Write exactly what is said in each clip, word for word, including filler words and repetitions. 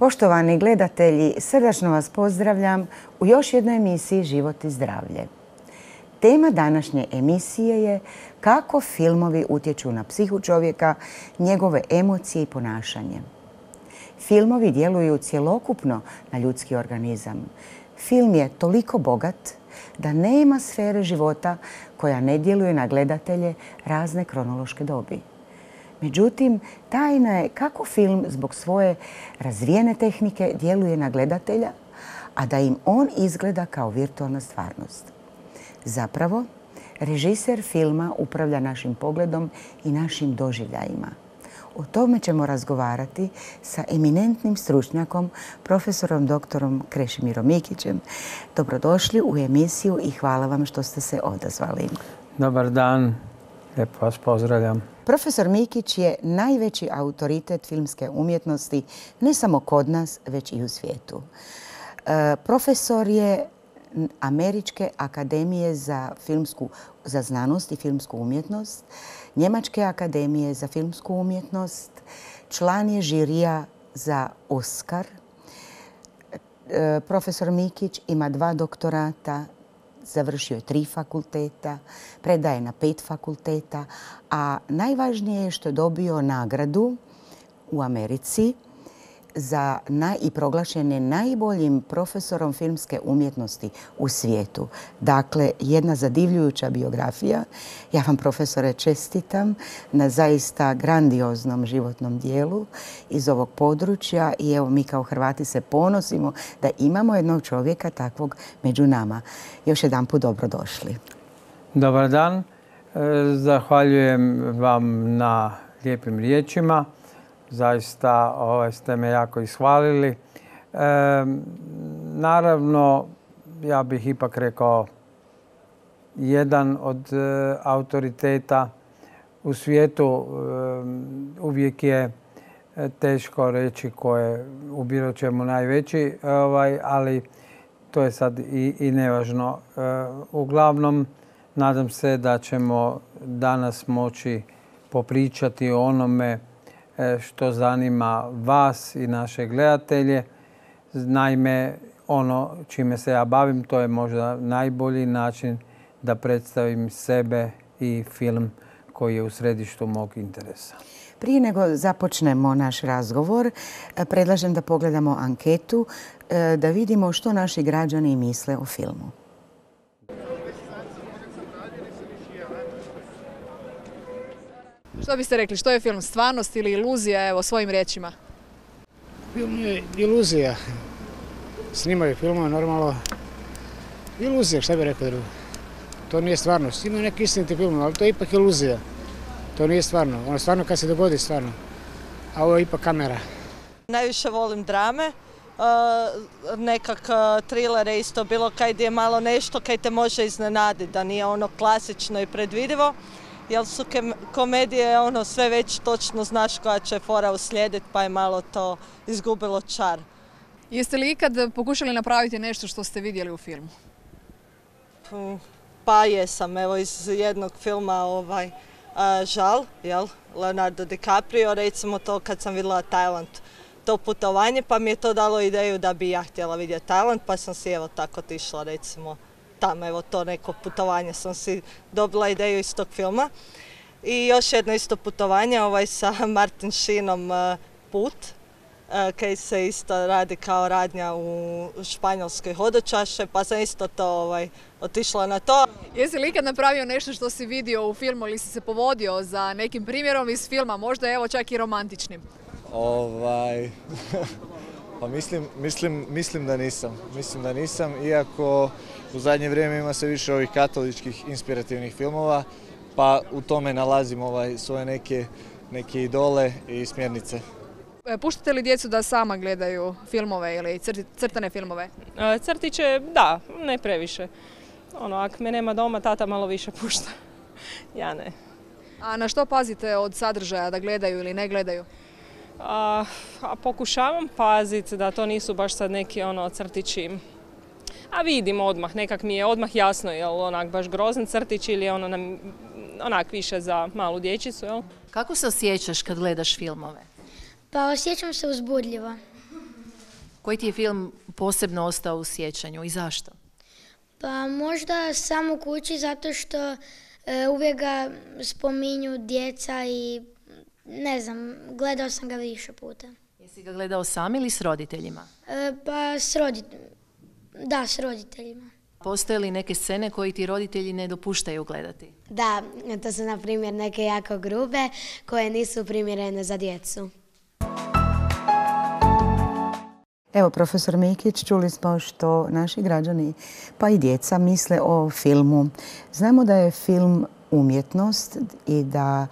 Poštovani gledatelji, srdačno vas pozdravljam u još jednoj emisiji Život i zdravlje. Tema današnje emisije je kako filmovi utječu na psihu čovjeka, njegove emocije i ponašanje. Filmovi djeluju cjelokupno na ljudski organizam. Film je toliko bogat da nema sfere života koja ne djeluje na gledatelje razne kronološke dobi. Međutim, tajna je kako film zbog svoje razvijene tehnike djeluje na gledatelja, a da im on izgleda kao virtualna stvarnost. Zapravo, režiser filma upravlja našim pogledom i našim doživljajima. O tome ćemo razgovarati sa eminentnim stručnjakom, profesorom doktorom Krešimirom Mikićem. Dobrodošli u emisiju i hvala vam što ste se odazvali. Dobar dan, lijepo vas pozdravljam. Profesor Mikić je najveći autoritet filmske umjetnosti ne samo kod nas, već i u svijetu. E, profesor je Američke akademije za, filmsku, za znanost i filmsku umjetnost, Njemačke akademije za filmsku umjetnost, član je žirija za Oskar. E, profesor Mikić ima dva doktorata, završio je tri fakulteta, predaje na pet fakulteta, a najvažnije je što je dobio nagradu u Americi za naj, i proglašen je najboljim profesorom filmske umjetnosti u svijetu. Dakle, jedna zadivljujuća biografija. Ja vam, profesore, čestitam na zaista grandioznom životnom dijelu iz ovog područja i evo mi kao Hrvati se ponosimo da imamo jednog čovjeka takvog među nama. Još jedanput dobrodošli. Dobar dan. Zahvaljujem vam na lijepim riječima. Zaista ovaj, ste me jako ishvalili. E, naravno, ja bih ipak rekao jedan od e, autoriteta u svijetu. E, uvijek je teško reći ko je u bilo čemu najveći, ovaj, ali to je sad i, i nevažno. E, uglavnom, nadam se da ćemo danas moći popričati o onome što zanima vas i naše gledatelje. Naime, ono čime se ja bavim, to je možda najbolji način da predstavim sebe i film koji je u središtu mog interesa. Prije nego započnemo naš razgovor, predlažem da pogledamo anketu, da vidimo što naši građani misle o filmu. Što biste rekli, što je film, stvarnost ili iluzija, evo, svojim riječima? Film je iluzija. Snimaju filmove normalno. Iluzija, šta bih rekao drugo. To nije stvarnost. Ima neki istiniti film, ali to je ipak iluzija. To nije stvarno. Ono stvarno kad se dogodi stvarno. A ovo je ipak kamera. Najviše volim drame. Uh, nekak uh, trilere isto, bilo kaj gdje je malo nešto kaj te može iznenaditi, da nije ono klasično i predvidivo. Jer su komedije ono sve već točno znaš koja će fora uslijediti, pa je malo to izgubilo čar. Jeste li ikad pokušali napraviti nešto što ste vidjeli u filmu? Pa jesam, evo iz jednog filma ovaj, uh, Žal, jel? Leonardo DiCaprio, recimo to kad sam vidjela Tajland, to putovanje, pa mi je to dalo ideju da bi ja htjela vidjeti Tajland, pa sam si evo tako otišla recimo tamo, evo to neko putovanje sam si dobila ideju iz tog filma. I još jedno isto putovanje ovaj, sa Martin Sheenom uh, Put, uh, kaj se isto radi kao radnja u Španjolskoj hodočaše, pa sam isto to ovaj, otišla na to. Jesi li ikad napravio nešto što si vidio u filmu ili si se povodio za nekim primjerom iz filma, možda evo čak i romantičnim? Ovaj... Pa mislim, mislim, mislim da nisam. Mislim da nisam, iako u zadnje vrijeme ima sve više ovih katoličkih inspirativnih filmova, pa u tome nalazim ovaj, svoje neke, neke idole i smjernice. Puštate li djecu da sama gledaju filmove ili crtane filmove? Crtiće, da, ne previše. Ono, ako me nema doma, tata malo više pušta. Ja ne. A na što pazite od sadržaja, da gledaju ili ne gledaju? A, a pokušavam paziti da to nisu baš sad neki ono crtići. A vidim odmah, nekak mi je odmah jasno je li onak baš grozan crtić ili je ono nam, onak više za malu dječicu. Jel? Kako se osjećaš kad gledaš filmove? Pa osjećam se uzbudljivo. Koji ti je film posebno ostao u sjećanju i zašto? Pa možda Sam u kući zato što e, uvijek ga spominju djeca i ne znam, gledao sam ga više puta. Jesi ga gledao sam ili s roditeljima? E, pa s roditeljima. Da, s roditeljima. Postoje li neke scene koje ti roditelji ne dopuštaju gledati? Da, to su na primjer neke jako grube koje nisu primjerene za djecu. Evo, profesor Mikić, čuli smo što naši građani, pa i djeca, misle o filmu. Znamo da je film umjetnost i da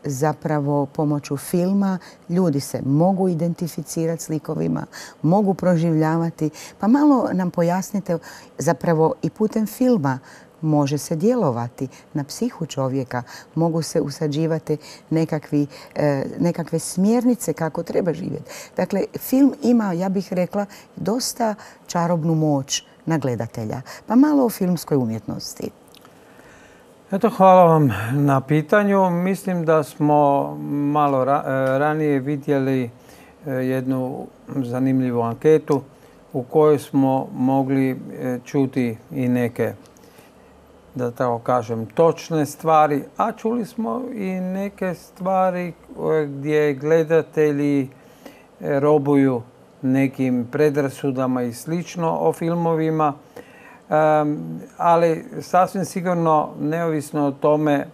zapravo pomoću filma ljudi se mogu identificirati s likovima, mogu proživljavati. Pa malo nam pojasnite, zapravo i putem filma može se djelovati na psihu čovjeka, mogu se usađivati nekakvi, e, nekakve smjernice kako treba živjeti. Dakle, film ima, ja bih rekla, dosta čarobnu moć na gledatelja. Pa malo o filmskoj umjetnosti. Eto, hvala vam na pitanju. Mislim da smo malo ra ranije vidjeli jednu zanimljivu anketu u kojoj smo mogli čuti i neke, da tako kažem, točne stvari, a čuli smo i neke stvari gdje gledatelji robuju nekim predrasudama i slično o filmovima. Um, ali sasvim sigurno, neovisno o tome,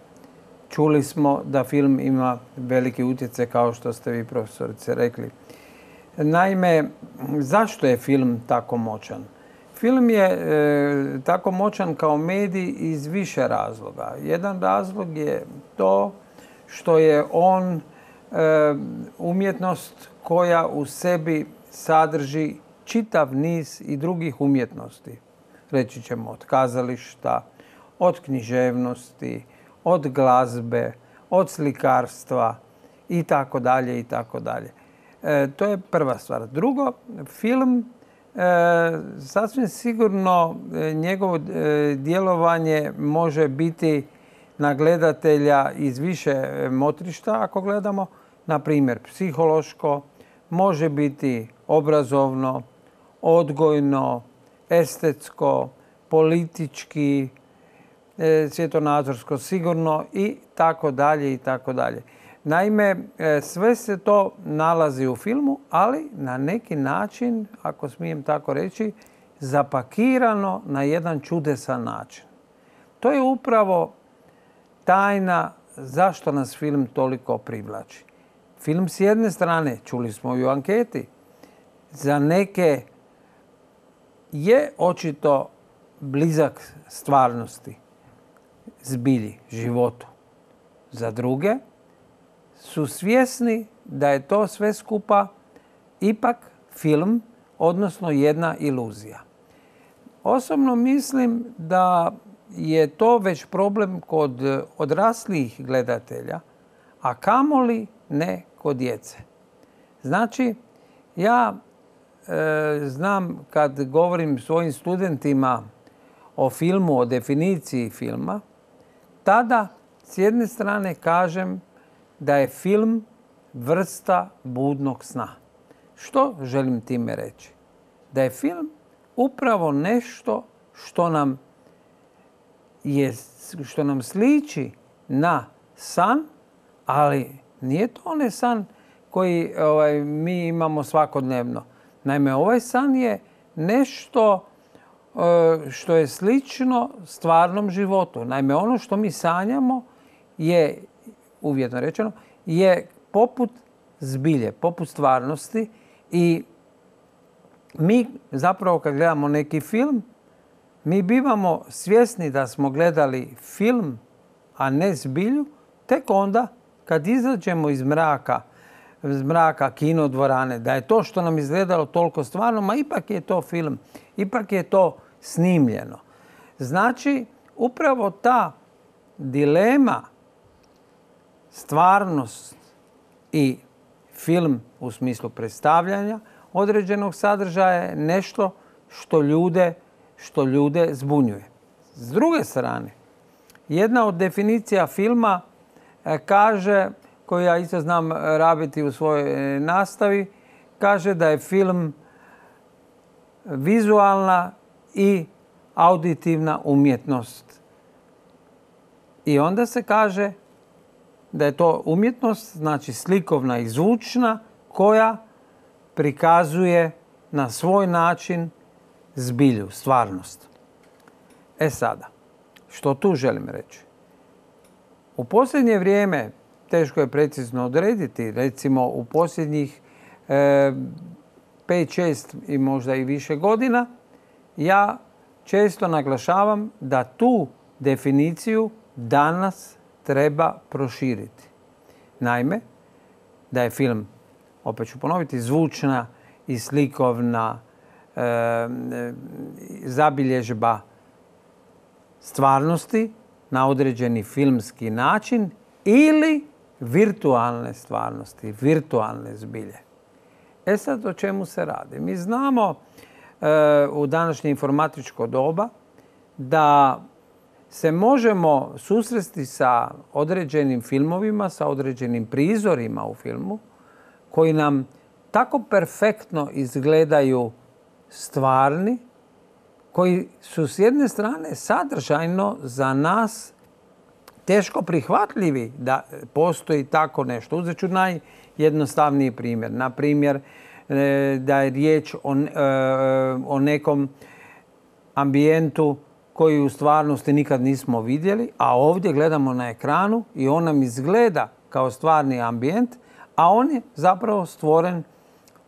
čuli smo da film ima veliki utjecaj, kao što ste vi, profesorice, rekli. Naime, zašto je film tako moćan? Film je e, tako moćan kao medij iz više razloga. Jedan razlog je to što je on e, umjetnost koja u sebi sadrži čitav niz i drugih umjetnosti. Reći ćemo od kazališta, od književnosti, od glazbe, od slikarstva i tako dalje i tako dalje. To je prva stvar. Drugo, film e, sasvim sigurno e, njegovo e, djelovanje može biti na gledatelja iz više motrišta, ako gledamo, na primjer psihološko, može biti obrazovno, odgojno, estetsko, politički, e, svjetonazorsko sigurno i tako dalje i tako dalje. Naime, e, sve se to nalazi u filmu, ali na neki način, ako smijem tako reći, zapakirano na jedan čudesan način. To je upravo tajna zašto nas film toliko privlači. Film s jedne strane, čuli smo i u anketi, za neke je očito blizak stvarnosti, zbilji, životu. Za druge su svjesni da je to sve skupa ipak film, odnosno jedna iluzija. Osobno mislim da je to već problem kod odraslih gledatelja, a kamoli ne kod djece. Znači, ja e, znam kad govorim svojim studentima o filmu, o definiciji filma, tada s jedne strane kažem da je film vrsta budnog sna. Što želim time reći? Da je film upravo nešto što nam, je, što nam sliči na san, ali nije to onaj san koji ovaj, mi imamo svakodnevno. Naime, ovaj san je nešto što je slično stvarnom životu. Naime, ono što mi sanjamo je, uvjetno rečeno, je poput zbilje, poput stvarnosti i mi zapravo kad gledamo neki film, mi bivamo svjesni da smo gledali film, a ne zbilju, tek onda kad izađemo iz mraka, iz mraka kinodvorane, da je to što nam izgledalo toliko stvarno, ma ipak je to film, ipak je to snimljeno. Znači, upravo ta dilema, stvarnost i film u smislu predstavljanja određenog sadržaja je nešto što ljude, što ljude zbunjuje. S druge strane, jedna od definicija filma kaže, koju ja isto znam rabiti u svojoj nastavi, kaže da je film vizualna i auditivna umjetnost. I onda se kaže da je to umjetnost, znači slikovna i zvučna, koja prikazuje na svoj način zbilju, stvarnost. E sada, što tu želim reći? U posljednje vrijeme, teško je precizno odrediti, recimo u posljednjih e, pet, šest i možda i više godina, ja često naglašavam da tu definiciju danas treba proširiti. Naime, da je film, opet ću ponoviti, zvučna i slikovna e, zabilježba stvarnosti na određeni filmski način ili virtualne stvarnosti, virtualne zbilje. E sad o čemu se radi? Mi znamo e, u današnje informatičko doba da se možemo susresti sa određenim filmovima, sa određenim prizorima u filmu koji nam tako perfektno izgledaju stvarni, koji su s jedne strane sadržajno za nas teško prihvatljivi da postoji tako nešto. Uzet ću najjednostavniji primjer. Na primjer, da je riječ o, o nekom ambijentu koji u stvarnosti nikad nismo vidjeli, a ovdje gledamo na ekranu i on nam izgleda kao stvarni ambijent, a on je zapravo stvoren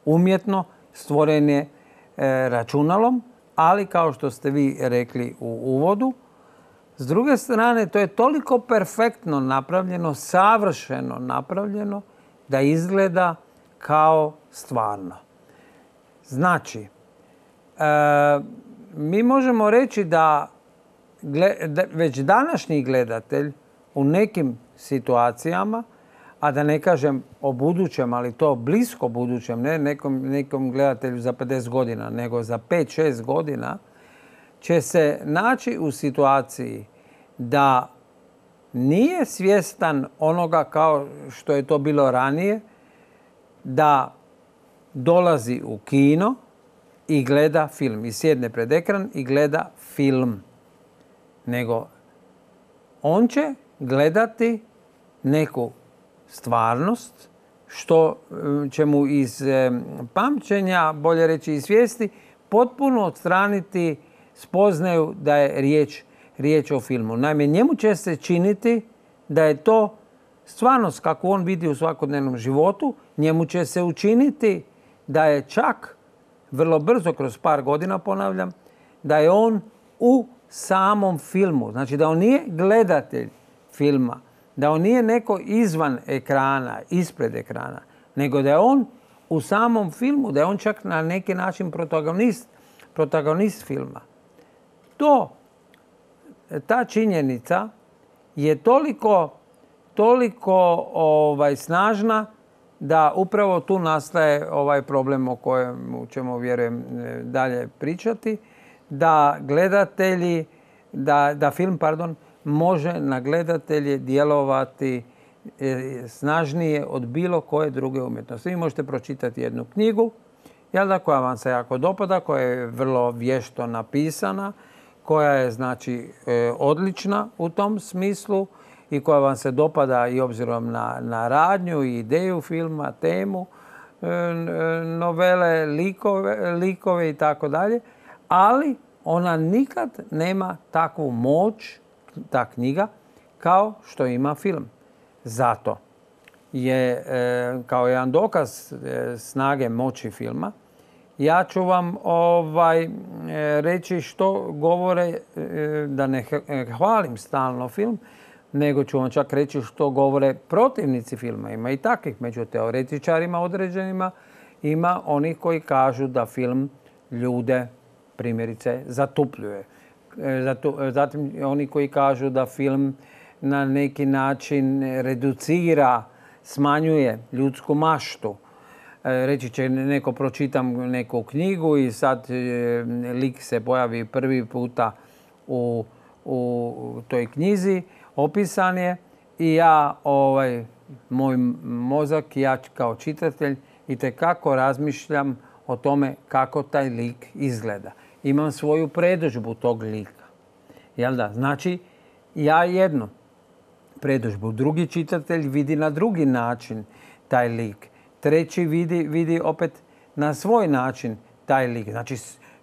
umjetno, stvoren je e, računalom, ali kao što ste vi rekli u uvodu, s druge strane to je toliko perfektno napravljeno, savršeno napravljeno da izgleda kao stvarno. Znači, e, mi možemo reći da, da već današnji gledatelj u nekim situacijama, a da ne kažem o budućem, ali to blisko budućem, ne nekom, nekom gledatelju za pedeset godina, nego za pet šest godina, će se naći u situaciji da nije svjestan onoga kao što je to bilo ranije, da dolazi u kino i gleda film. I sjedne pred ekran i gleda film. Nego on će gledati neku stvarnost što će mu iz pamćenja, bolje reći iz svijesti, potpuno odstraniti spoznaju da je riječ, riječ o filmu. Naime, njemu će se činiti da je to stvarnost kako on vidi u svakodnevnom životu. Njemu će se učiniti da je čak vrlo brzo, kroz par godina ponavljam, da je on u samom filmu. Znači da on nije gledatelj filma, da on nije neko izvan ekrana, ispred ekrana, nego da je on u samom filmu, da je on čak na neki način protagonist, protagonist filma. To, ta činjenica je toliko, toliko ovaj, snažna da upravo tu nastaje ovaj problem o kojem ćemo, vjerujem, dalje pričati, da gledatelji, da, da film, pardon, može na gledatelje djelovati snažnije od bilo koje druge umjetnosti. Vi možete pročitati jednu knjigu, jel da, koja vam se jako dopada, koja je vrlo vješto napisana, koja je znači odlična u tom smislu i koja vam se dopada i obzirom na, na radnju i ideju filma, temu, novele, likove, likove i tako dalje, ali ona nikad nema takvu moć, ta knjiga, kao što ima film. Zato je, kao jedan dokaz snage moći filma, ja ću vam ovaj, reći što govore, da ne hvalim stalno film, nego ću vam čak reći što govore protivnici filma. Ima i takvih među teoretičarima određenima. Ima onih koji kažu da film ljude, primjerice, zatupljuje. Zatim oni koji kažu da film na neki način reducira, smanjuje ljudsku maštu. Reći će neko, pročitam neku knjigu i sad lik se pojavi prvi puta u, u toj knjizi, opisan je i ja, ovaj, moj mozak, ja kao čitatelj itekako razmišljam o tome kako taj lik izgleda. Imam svoju predodžbu tog lika. Jel da? Znači, ja jednu predodžbu, drugi čitatelj vidi na drugi način taj lik. Treći vidi, vidi opet na svoj način taj lik. Znači,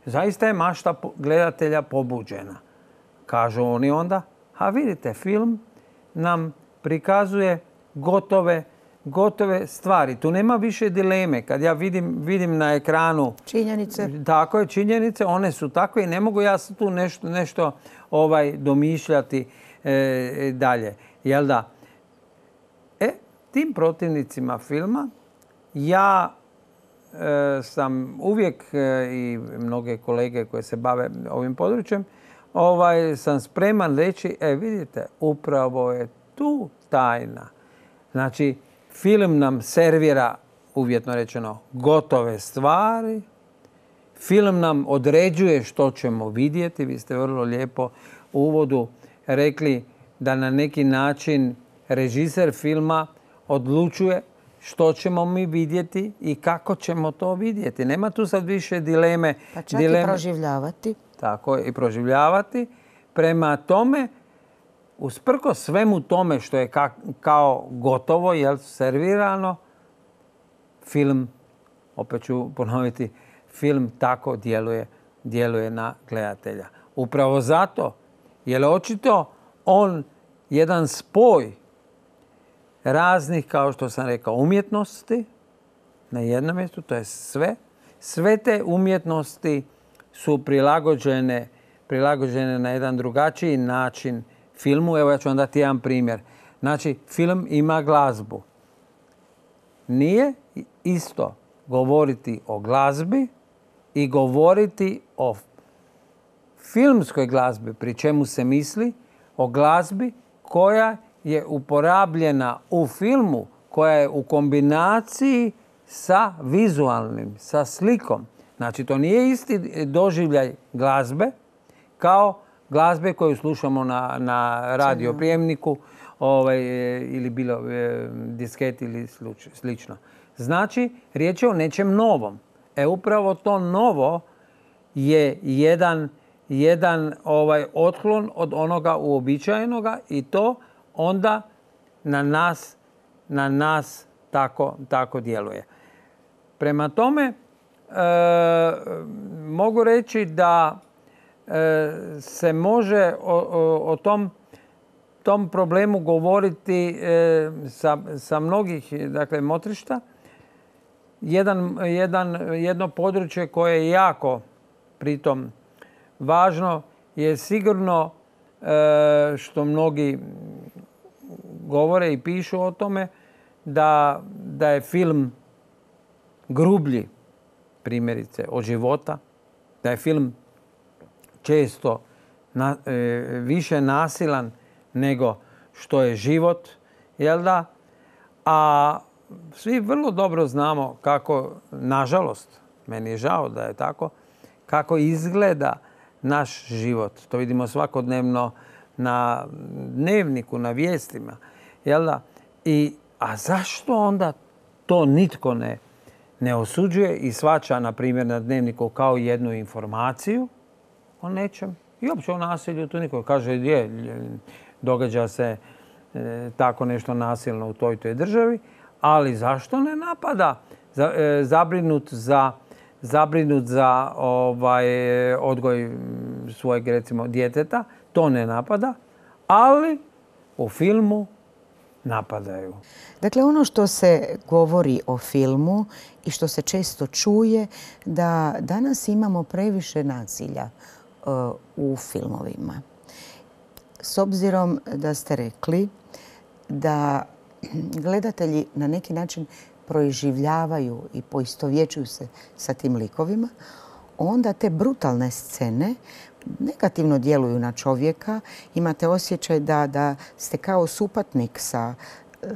zaista je mašta gledatelja pobuđena. Kažu oni onda, a vidite, film nam prikazuje gotove, gotove stvari. Tu nema više dileme. Kad ja vidim, vidim na ekranu činjenice, tako je, činjenice, one su takve i ne mogu ja tu nešto, nešto ovaj, domišljati e, dalje. Jel da? E, tim protivnicima filma ja e, sam uvijek e, i mnoge kolege koje se bave ovim područjem, ovaj, sam spreman reći, e vidite, upravo je tu tajna. Znači, film nam servira, uvjetno rečeno, gotove stvari. Film nam određuje što ćemo vidjeti. Vi ste vrlo lijepo u uvodu rekli da na neki način režiser filma odlučuje što ćemo mi vidjeti i kako ćemo to vidjeti. Nema tu sad više dileme. Pa čak dileme, i proživljavati. Tako je, i proživljavati. Prema tome, usprkos svemu tome što je ka, kao gotovo, jel, servirano, film, opet ću ponoviti, film tako djeluje, djeluje na gledatelja. Upravo zato, jer očito on jedan spoj raznih, kao što sam rekao, umjetnosti na jednom mjestu, to je sve. Sve te umjetnosti su prilagođene, prilagođene na jedan drugačiji način filmu. Evo ja ću vam dati jedan primjer. Znači, film ima glazbu. Nije isto govoriti o glazbi i govoriti o filmskoj glazbi, pri čemu se misli o glazbi koja je uporabljena u filmu, koja je u kombinaciji sa vizualnim, sa slikom. Znači, to nije isti doživljaj glazbe kao glazbe koju slušamo na, na radioprijemniku ovaj, ili bilo e, disket ili slično. Znači, riječ je o nečem novom. E, upravo to novo je jedan, jedan ovaj, otklon od onoga uobičajenoga i to onda na nas, na nas tako, tako djeluje. Prema tome, e, mogu reći da e, se može o, o, o tom, tom problemu govoriti e, sa, sa mnogih, dakle, motrišta. Jedan, jedan, jedno područje koje je jako pritom važno je sigurno e, što mnogi govore i pišu o tome da, da je film grublji, primjerice, od života, da je film često na, e, više nasilan nego što je život, jel da? A svi vrlo dobro znamo kako, nažalost, meni je žao da je tako, kako izgleda naš život. To vidimo svakodnevno na dnevniku, na vijestima. Jel da? I, a zašto onda to nitko ne, ne osuđuje i shvaća, na primjer, na dnevniku kao jednu informaciju o nečem? I uopće o nasilju tu niko kaže je, događa se e, tako nešto nasilno u toj toj državi, ali zašto ne napada? Za, e, zabrinut za, zabrinut za ovaj, odgoj svojeg, recimo, djeteta, to ne napada, ali u filmu napadaju. Dakle, ono što se govori o filmu i što se često čuje, da danas imamo previše nasilja uh, u filmovima. S obzirom da ste rekli da gledatelji na neki način proživljavaju i poistovjećuju se sa tim likovima, onda te brutalne scene negativno djeluju na čovjeka. Imate osjećaj da, da ste kao supatnik sa e,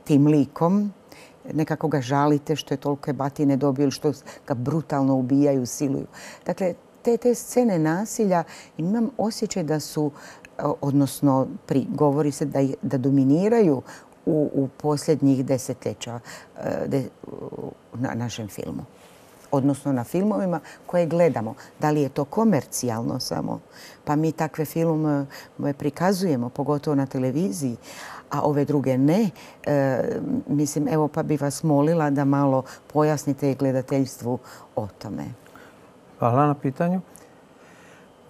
tim likom. Nekako ga žalite što je tolike batine dobio ili što ga brutalno ubijaju, siluju. Dakle, te, te scene nasilja, imam osjećaj da su, odnosno pri, govori se da, da dominiraju u, u posljednjih desetljeća de, na našem filmu. odnosno na filmovima koje gledamo. Da li je to komercijalno samo, pa mi takve filmove prikazujemo, pogotovo na televiziji, a ove druge ne. E, mislim, evo pa bi vas molila da malo pojasnite gledateljstvu o tome. Hvala na pitanju.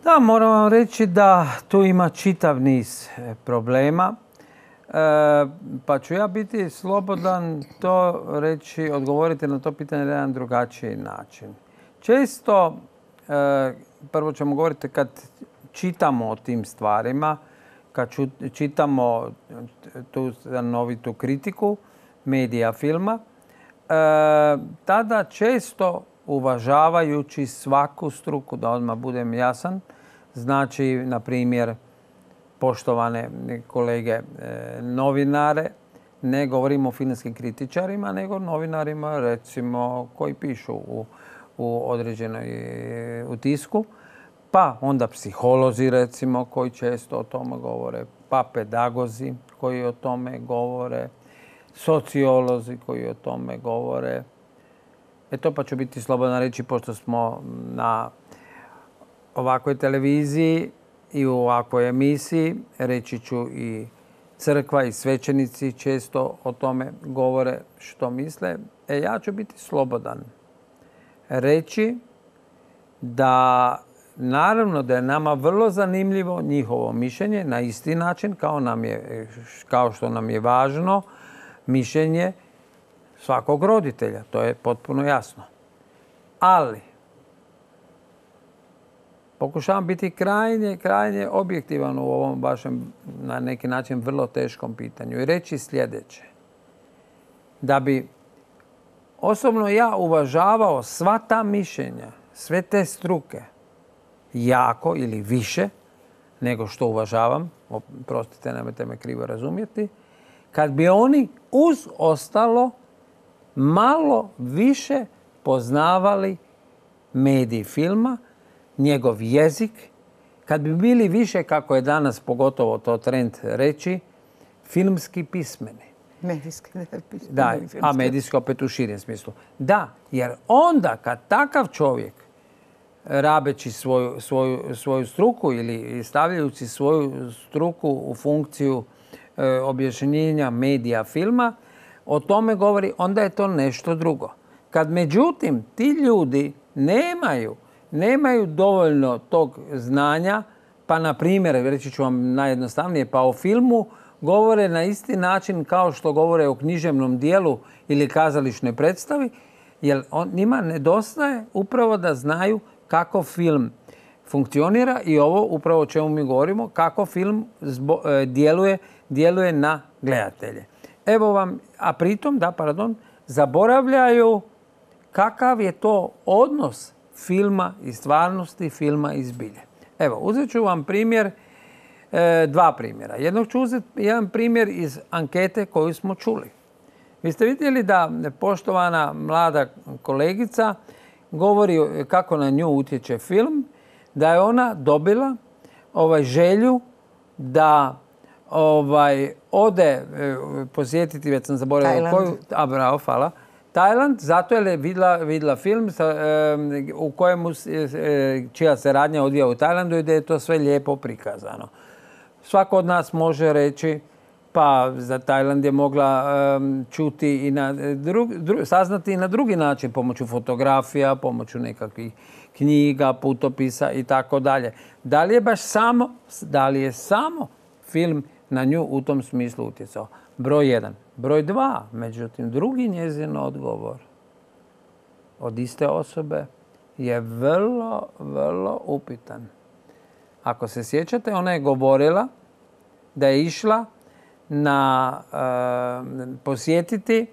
Da, moram vam reći da tu ima čitav niz problema. E, pa ću ja biti slobodan to reći, odgovoriti na to pitanje na jedan drugačiji način. Često, e, prvo ćemo govoriti kad čitamo o tim stvarima, kad čitamo tu novitu kritiku medija filma, e, tada često uvažavajući svaku struku, da odmah budem jasan, znači, na primjer, poštovane kolege e, novinare, ne govorimo o filmskim kritičarima, nego novinarima, recimo, koji pišu u, u određenoj u tisku, pa onda psiholozi, recimo, koji često o tome govore, pa pedagozi koji o tome govore, sociolozi koji o tome govore. Eto, pa ću biti slobodan reći, pošto smo na ovakvoj televiziji i u ovakvoj emisiji, reći ću i crkva i svećenici često o tome govore što misle. E, ja ću biti slobodan reći da naravno da je nama vrlo zanimljivo njihovo mišljenje na isti način kao, nam je, kao što nam je važno mišljenje svakog roditelja. To je potpuno jasno. Ali pokušavam biti krajnje, krajnje objektivan u ovom vašem, na neki način, vrlo teškom pitanju i reći sljedeće. Da bi osobno ja uvažavao sva ta mišljenja, sve te struke, jako ili više nego što uvažavam, oprostite, nemojte me krivo razumjeti, kad bi oni uz ostalo malo više poznavali medij filma, njegov jezik, kad bi bili više, kako je danas pogotovo to trend reći, filmski pismeni. Medijski, pismeni. Da, a medijski opet u širem smislu. Da, jer onda kad takav čovjek, rabeći svoju, svoju, svoju struku ili stavljajući svoju struku u funkciju e, objašnjenja medija filma, o tome govori, onda je to nešto drugo. Kad međutim ti ljudi nemaju, nemaju dovoljno tog znanja, pa na primjer, reći ću vam najjednostavnije, pa o filmu govore na isti način kao što govore o književnom dijelu ili kazališnoj predstavi, jer on, njima nedostaje upravo da znaju kako film funkcionira i ovo upravo o čemu mi govorimo, kako film zbo, e, djeluje, djeluje na gledatelje. Evo vam, a pritom, da, pardon, zaboravljaju kakav je to odnos filma i stvarnosti, filma i zbilje. Evo, uzet ću vam primjer, e, dva primjera. Jednog ću uzeti jedan primjer iz ankete koju smo čuli. Vi ste vidjeli da poštovana mlada kolegica govori kako na nju utječe film, da je ona dobila ovaj želju da ovaj, ode e, posjetiti, već sam zaboravila koju, a bravo, hvala, Tajland, zato je vidjela, vidjela film sa, e, u kojemu e, čija se radnja odvija u Tajlandu i da je to sve lijepo prikazano. Svako od nas može reći, pa za Tajland je mogla um, čuti i na drug, dru, saznati i na drugi način, pomoću fotografija, pomoću nekakvih knjiga, putopisa i tako dalje. Da li je baš samo, da li je samo film na nju u tom smislu utjecao? Broj jedan. Broj dva, međutim, drugi njezin odgovor od iste osobe je vrlo, vrlo upitan. Ako se sjećate, ona je govorila da je išla na uh, posjetiti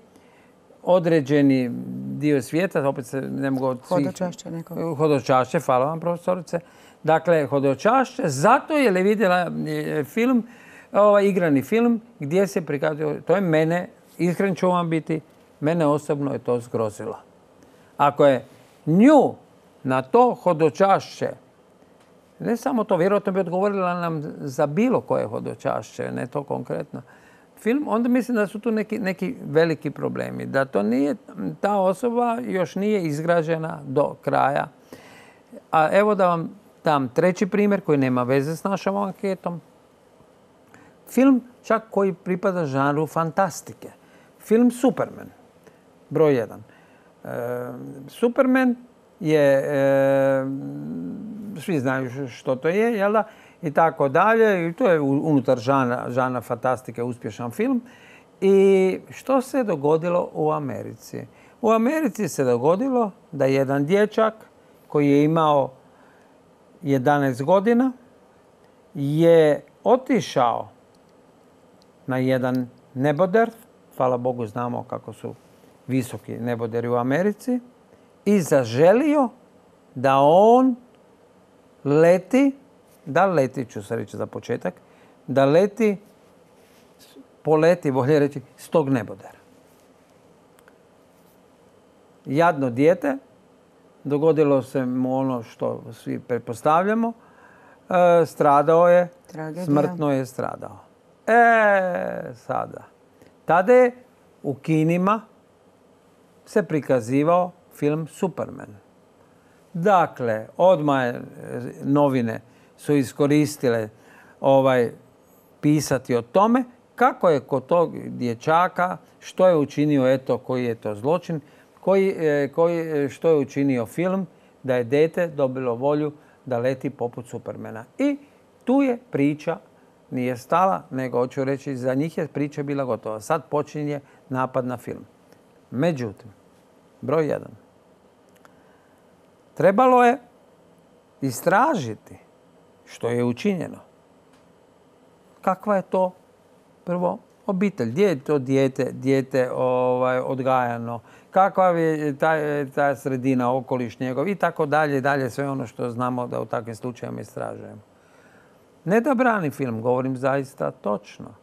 određeni dio svijeta, opet se ne mogu od svih... Hodočašće nekog. Hodočašće, hvala vam profesorice. Dakle, hodočašće, zato je li vidjela film, ovaj igrani film, gdje se prikazuje, to je mene, iskren ću vam biti, mene osobno je to zgrozilo. Ako je nju na to hodočašće, ne samo to, vjerojatno bi odgovorila nam za bilo koje hodočašće, ne to konkretno. film, onda mislim da su tu neki, neki veliki problemi. Da to nije, ta osoba još nije izgrađena do kraja. A evo da vam dam treći primjer koji nema veze s našom anketom. Film čak koji pripada žanru fantastike. Film Superman, broj jedan. E, Superman je, e, svi znaju što to je, jel da? I tako dalje. I to je unutar žana, žana fantastike uspješan film. I što se dogodilo u Americi? U Americi se dogodilo da jedan dječak koji je imao jedanaest godina je otišao na jedan neboder, hvala Bogu znamo kako su visoki neboderi u Americi, i zaželio da on leti, da leti, ću se reći za početak, da leti, poleti, bolje reći, s tog nebodera. Jadno dijete, dogodilo se mu ono što svi pretpostavljamo, e, stradao je, Tragedija. Smrtno je stradao. E, sada. Tada je u kinima se prikazivao film Superman. Dakle, odmah novine su iskoristile ovaj, pisati o tome kako je kod tog dječaka, što je učinio, eto, koji je to zločin, koji, koji, što je učinio film, da je dijete dobilo volju da leti poput Supermana. I tu je priča, nije stala, nego hoću reći, za njih je priča bila gotova. Sad počinje napad na film. Međutim, broj jedan. Trebalo je istražiti što je učinjeno. Kakva je to prvo obitelj? Gdje je to dijete, dijete ovaj, odgajano? Kakva je ta, ta sredina, okoliš njegov i tako dalje, dalje, sve ono što znamo da u takvim slučajevima istražujemo. Ne da brani film, govorim zaista točno.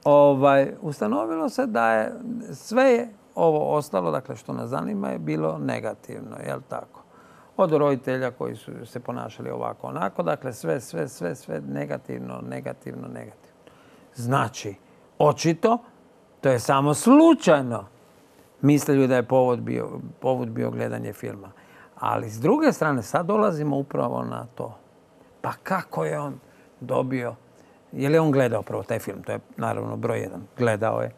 Ovaj, ustanovilo se da je sve je ovo ostalo, dakle što nas zanima, je bilo negativno, jel tako? Od roditelja koji su se ponašali ovako onako, dakle sve, sve, sve, sve negativno, negativno, negativno. Znači, očito, to je samo slučajno mislili da je povod bio, povod bio gledanje filma. Ali s druge strane, sad dolazimo upravo na to. Pa kako je on dobio, je li on gledao prvo taj film? To je naravno broj jedan. Gledao je.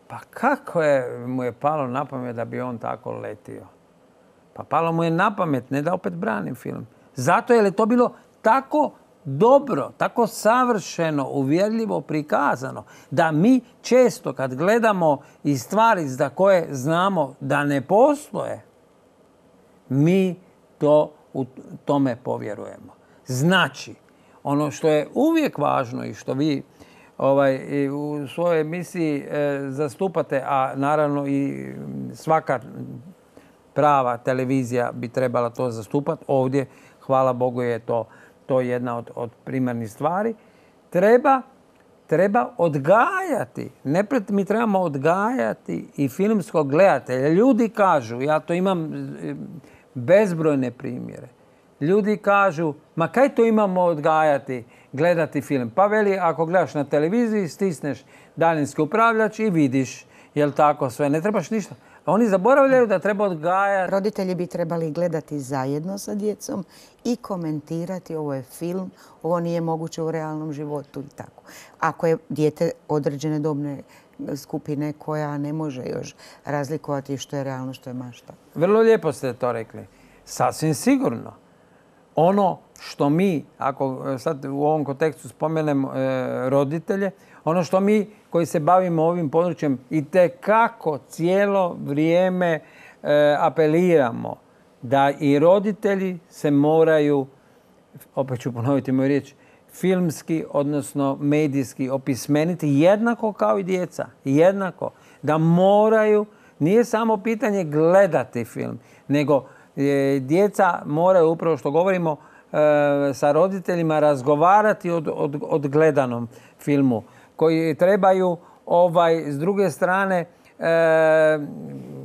Pa kako je, mu je palo na pamet da bi on tako letio? Pa palo mu je na pamet, ne da opet branim film. Zato je li to bilo tako dobro, tako savršeno, uvjerljivo prikazano, da mi često kad gledamo i stvari za koje znamo da ne postoje, mi to u tome povjerujemo. Znači, ono što je uvijek važno i što vi ovaj, u svojoj emisiji e, zastupate, a naravno i svaka prava televizija bi trebala to zastupati, ovdje, hvala Bogu, je to, to jedna od, od primarnih stvari, treba, treba odgajati. Nepred, mi trebamo odgajati i filmskog gledatelja. Ljudi kažu, ja to imam bezbrojne primjere, ljudi kažu, ma kaj to imamo odgajati, gledati film? Pa veli, ako gledaš na televiziji, stisneš daljinski upravljač i vidiš, jel tako sve, ne trebaš ništa. A oni zaboravljaju da treba odgajati. Roditelji bi trebali gledati zajedno sa djecom i komentirati, ovo je film, ovo nije moguće u realnom životu i tako. Ako je dijete određene dobne skupine koja ne može još razlikovati što je realno, što je mašta. Vrlo lijepo ste to rekli. Sasvim sigurno. Ono što mi, ako sad u ovom kontekstu spomenem e, roditelje, ono što mi koji se bavimo ovim područjem itekako cijelo vrijeme e, apeliramo da i roditelji se moraju, opet ću ponoviti moju riječ, filmski, odnosno medijski opismeniti jednako kao i djeca. Jednako. Da moraju, nije samo pitanje gledati film, nego e, djeca moraju, upravo što govorimo, e, sa roditeljima razgovarati od, od, od gledanom filmu, koji trebaju, ovaj, s druge strane, e,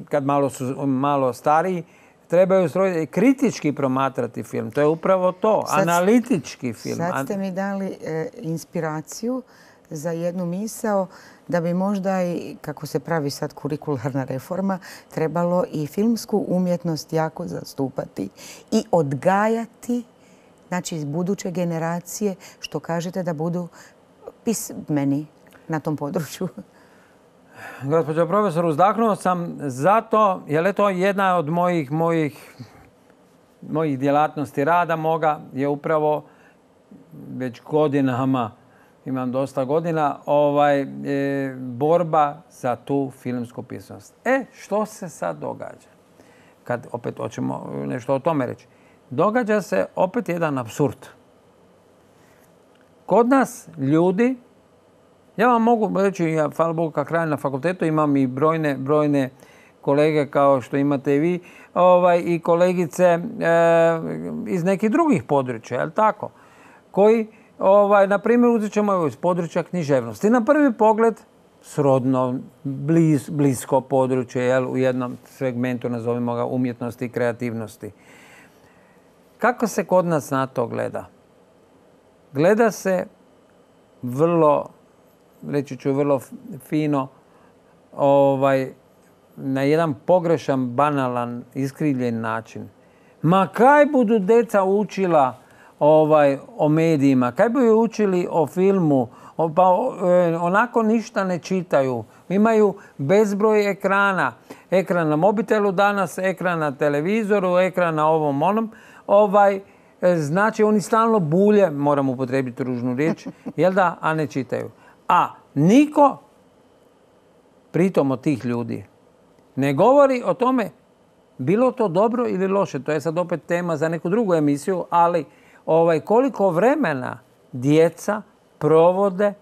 kad malo su malo stariji, trebaju kritički promatrati film. To je upravo to, sad, analitički film. Sad ste mi dali e, inspiraciju za jednu misao da bi možda i, kako se pravi sad kurikularna reforma, trebalo i filmsku umjetnost jako zastupati i odgajati, znači buduće generacije, što kažete, da budu pismeni na tom području. Gospođo profesor, uzdahnuo sam zato, jer je to jedna od mojih, mojih, mojih djelatnosti rada moga, je upravo već godinama, imam dosta godina, ovaj, e, borba za tu filmsku pismenost. E, što se sad događa? Kad opet hoćemo nešto o tome reći. Događa se opet jedan apsurd. Kod nas ljudi, ja vam mogu reći, ja, hvala Bogu, kak radim na fakultetu, imam i brojne, brojne kolege kao što imate i vi, ovaj, i kolegice e, iz nekih drugih područja, je li tako? Koji, ovaj, na primjer, uzet ćemo iz područja književnosti. Na prvi pogled, srodno, bliz, blisko područje, jel, u jednom segmentu, nazovimo ga, umjetnosti i kreativnosti. Kako se kod nas na to gleda? Gleda se vrlo, reći ću vrlo fino, ovaj, na jedan pogrešan, banalan, iskrivljen način. Ma kaj budu deca učila ovaj, o medijima, kaj budu učili o filmu, o, pa e, onako ništa ne čitaju. Imaju bezbroj ekrana. Ekran na mobitelu danas, ekran na televizoru, ekran na ovom onom. Ovaj, e, znači oni stalno bulje, moram upotrijebiti ružnu riječ, jel da, a ne čitaju. A niko, pritom od tih ljudi, ne govori o tome bilo to dobro ili loše. To je sad opet tema za neku drugu emisiju, ali ovaj, koliko vremena djeca provode,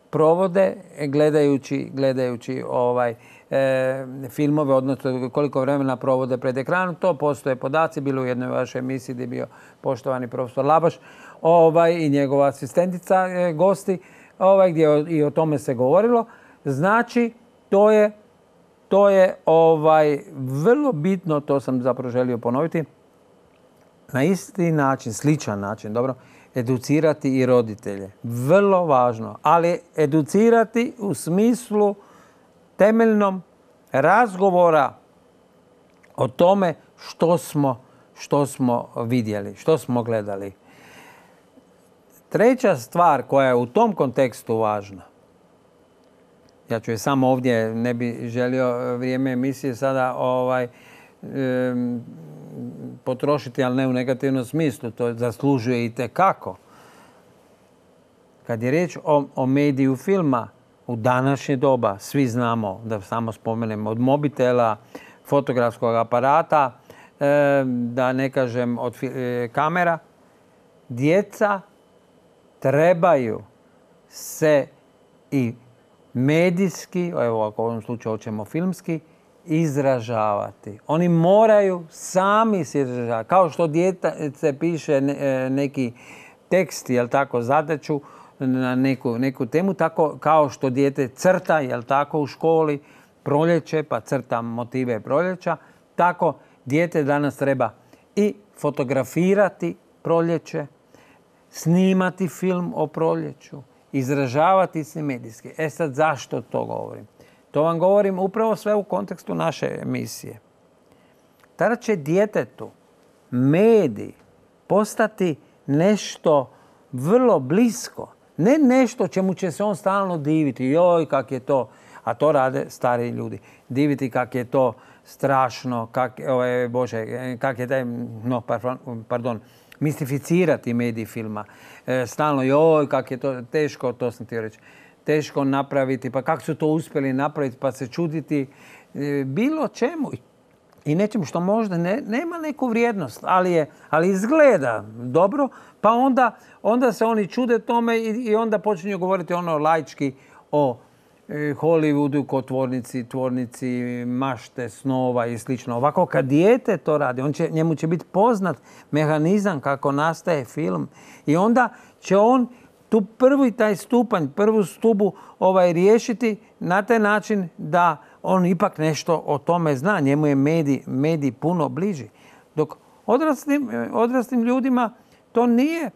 provode gledajući, gledajući ovaj, e, filmove, odnosno koliko vremena provode pred ekranom. To postoje podaci, bilo u jednoj vašoj emisiji gdje je bio poštovani profesor Labaš ovaj, i njegova asistentica e, gosti, ovaj, gdje o, i o tome se govorilo. Znači, to je To je ovaj, vrlo bitno, to sam zapravo želio ponoviti, na isti način, sličan način, dobro, educirati i roditelje. Vrlo važno, ali educirati u smislu temeljnom razgovora o tome što smo, što smo vidjeli, što smo gledali. Treća stvar koja je u tom kontekstu važna, ja ću je samo ovdje, ne bi želio vrijeme emisije sada ovaj, e, potrošiti, ali ne u negativnom smislu. To zaslužuje i tekako. Kad je riječ o, o mediju filma, u današnje doba, svi znamo, da samo spomenem, od mobitela, fotografskog aparata, e, da ne kažem od e, kamera, djeca trebaju se i medijski, evo ako u ovom slučaju hoćemo filmski, izražavati. Oni moraju sami se izražavati. Kao što dijete piše neki tekst, jel tako, zadaću na neku, neku temu, tako kao što dijete crta, jel tako, u školi, proljeće, pa crta motive proljeća, tako dijete danas treba i fotografirati proljeće, snimati film o proljeću, izražavati se medijski. E sad, zašto to govorim? To vam govorim upravo sve u kontekstu naše emisije. Tada će djetetu medij postati nešto vrlo blisko. Ne nešto čemu će se on stalno diviti. Joj, kak je to, a to rade stari ljudi. Diviti kak je to strašno, kak, ovaj, Bože, kak je taj, no, pardon, mistificirati medij filma. E, stalno, joj, kak je to teško, to sam htio reći, teško napraviti, pa kako su to uspjeli napraviti, pa se čuditi e, bilo čemu i nečemu što možda ne, nema neku vrijednost, ali, je, ali izgleda dobro, pa onda, onda se oni čude tome i, i onda počinju govoriti ono laički o e, Hollywoodu ko tvornici, tvornici mašte, snova i slično. Ovako kad dijete to radi, on će, njemu će biti poznat mehanizam kako nastaje film i onda će on tu prvi taj stupanj, prvu stubu ovaj, riješiti na taj način da on ipak nešto o tome zna. Njemu je medij, medij puno bliži. Dok odraslim, odraslim ljudima to nije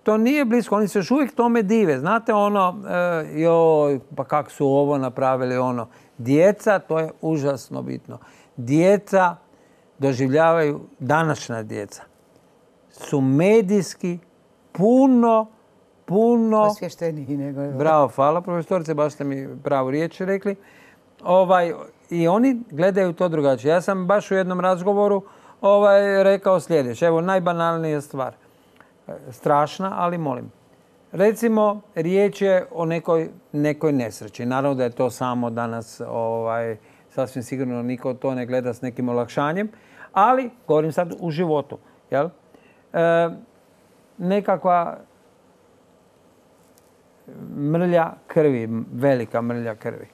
to nije blisko. Oni se još uvijek tome dive. Znate ono, e, joj, pa kako su ovo napravili, ono. Djeca, to je užasno bitno. Djeca doživljavaju, današnja djeca, su medijski puno, puno... Osvješteniji nego... Bravo, hvala profesorice, baš ste mi pravu riječ rekli. Ovaj, I oni gledaju to drugačije. Ja sam baš u jednom razgovoru ovaj, rekao sljedeće. Evo, najbanalnija stvar. Strašna, ali molim. Recimo, riječ je o nekoj, nekoj nesreći. Naravno da je to samo danas, ovaj, sasvim sigurno niko to ne gleda s nekim olakšanjem, ali govorim sad u životu. Jel? E, nekakva mrlja krvi, velika mrlja krvi.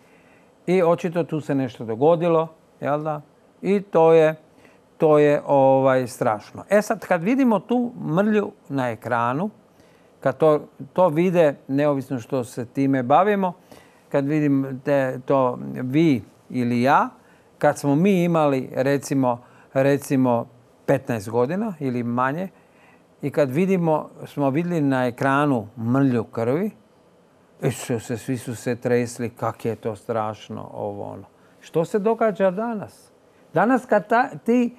I očito tu se nešto dogodilo, jel da? I to je, to je ovaj, strašno. E sad, kad vidimo tu mrlju na ekranu, kad to, to vide, neovisno što se time bavimo, kad vidim te, to vi ili ja, kad smo mi imali recimo, recimo petnaest godina ili manje, i kad vidimo, smo vidjeli na ekranu mrlju krvi, Isuse, svi su se tresli, kak je to strašno, ovo ono. Što se događa danas? Danas kad ta, ti,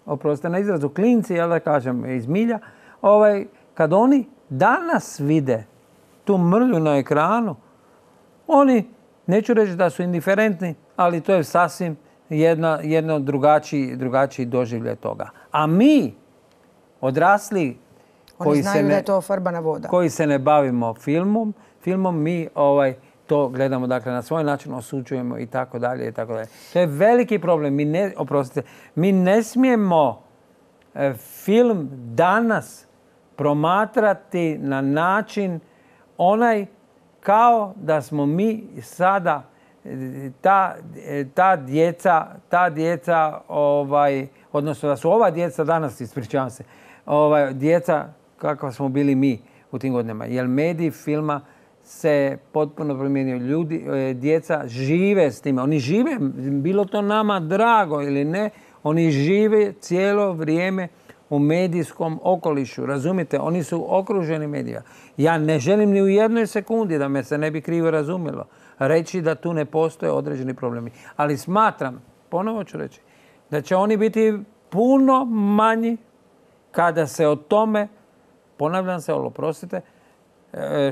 oprostite na izrazu, klinci, ja da kažem, iz milja, ovaj, kad oni danas vide tu mrlju na ekranu, oni, neću reći da su indiferentni, ali to je sasvim jedna, jedno drugačiji, drugačiji doživljaj toga. A mi, odrasli, Oni koji znaju se ne, da je to farbana voda. koji se ne bavimo filmom, filmom mi ovaj, to gledamo dakle, na svoj način, osuđujemo i tako dalje i tako dalje. To je veliki problem. Mi ne, oprostite, mi ne smijemo e, film danas promatrati na način onaj kao da smo mi sada ta, ta djeca, ta djeca ovaj, odnosno da su ova djeca danas, ispričavam se, ovaj, djeca kakva smo bili mi u tim godinama. Jer medij filma se potpuno promijenio. Ljudi, djeca žive s time. Oni žive, bilo to nama drago ili ne, oni žive cijelo vrijeme u medijskom okolišu. Razumite, oni su okruženi medija. Ja ne želim ni u jednoj sekundi, da me se ne bi krivo razumjelo, reći da tu ne postoje određeni problemi. Ali smatram, ponovo ću reći, da će oni biti puno manji kada se o tome, ponavljam se, oprostite,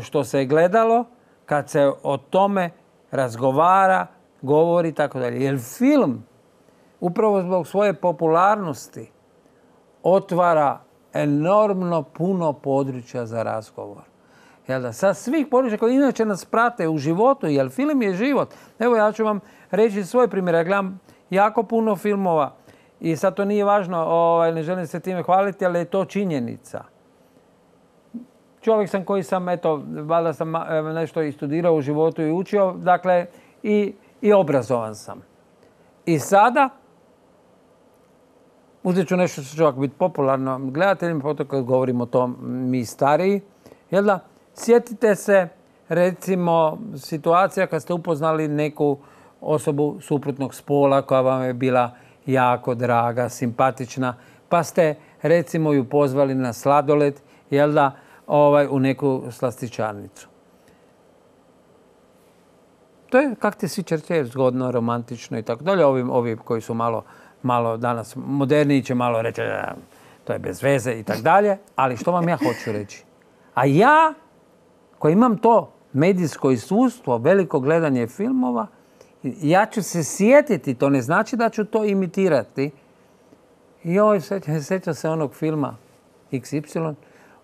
što se je gledalo, kad se o tome razgovara, govori i tako dalje. Jer film, upravo zbog svoje popularnosti, otvara enormno puno područja za razgovor. Jel da? Sa svih područja koji inače nas prate u životu, jer film je život. Evo ja ću vam reći svoj primjer. Ja gledam jako puno filmova i sad to nije važno, ovaj, ne želim se time hvaliti, ali je to činjenica. Čovjek sam koji sam, eto, valjda sam nešto i studirao u životu i učio, dakle, i, i obrazovan sam. I sada, uzet ću nešto što će ovako biti popularno gledateljima, potom kad govorimo o tom mi stariji, jel da? Sjetite se, recimo, situacija kad ste upoznali neku osobu suprotnog spola koja vam je bila jako draga, simpatična, pa ste, recimo, ju pozvali na sladoled, jel da, ovaj, u neku slastičarnicu. To je, kak ti sviđa, zgodno, romantično i tako dalje. Ovi, ovi koji su malo, malo danas moderniji će malo reći da to je bez veze i tako dalje. Ali što vam ja hoću reći? A ja, koji imam to medijsko iskustvo, veliko gledanje filmova, ja ću se sjetiti, to ne znači da ću to imitirati. Joj, sjećam se onog filma iks ipsilon,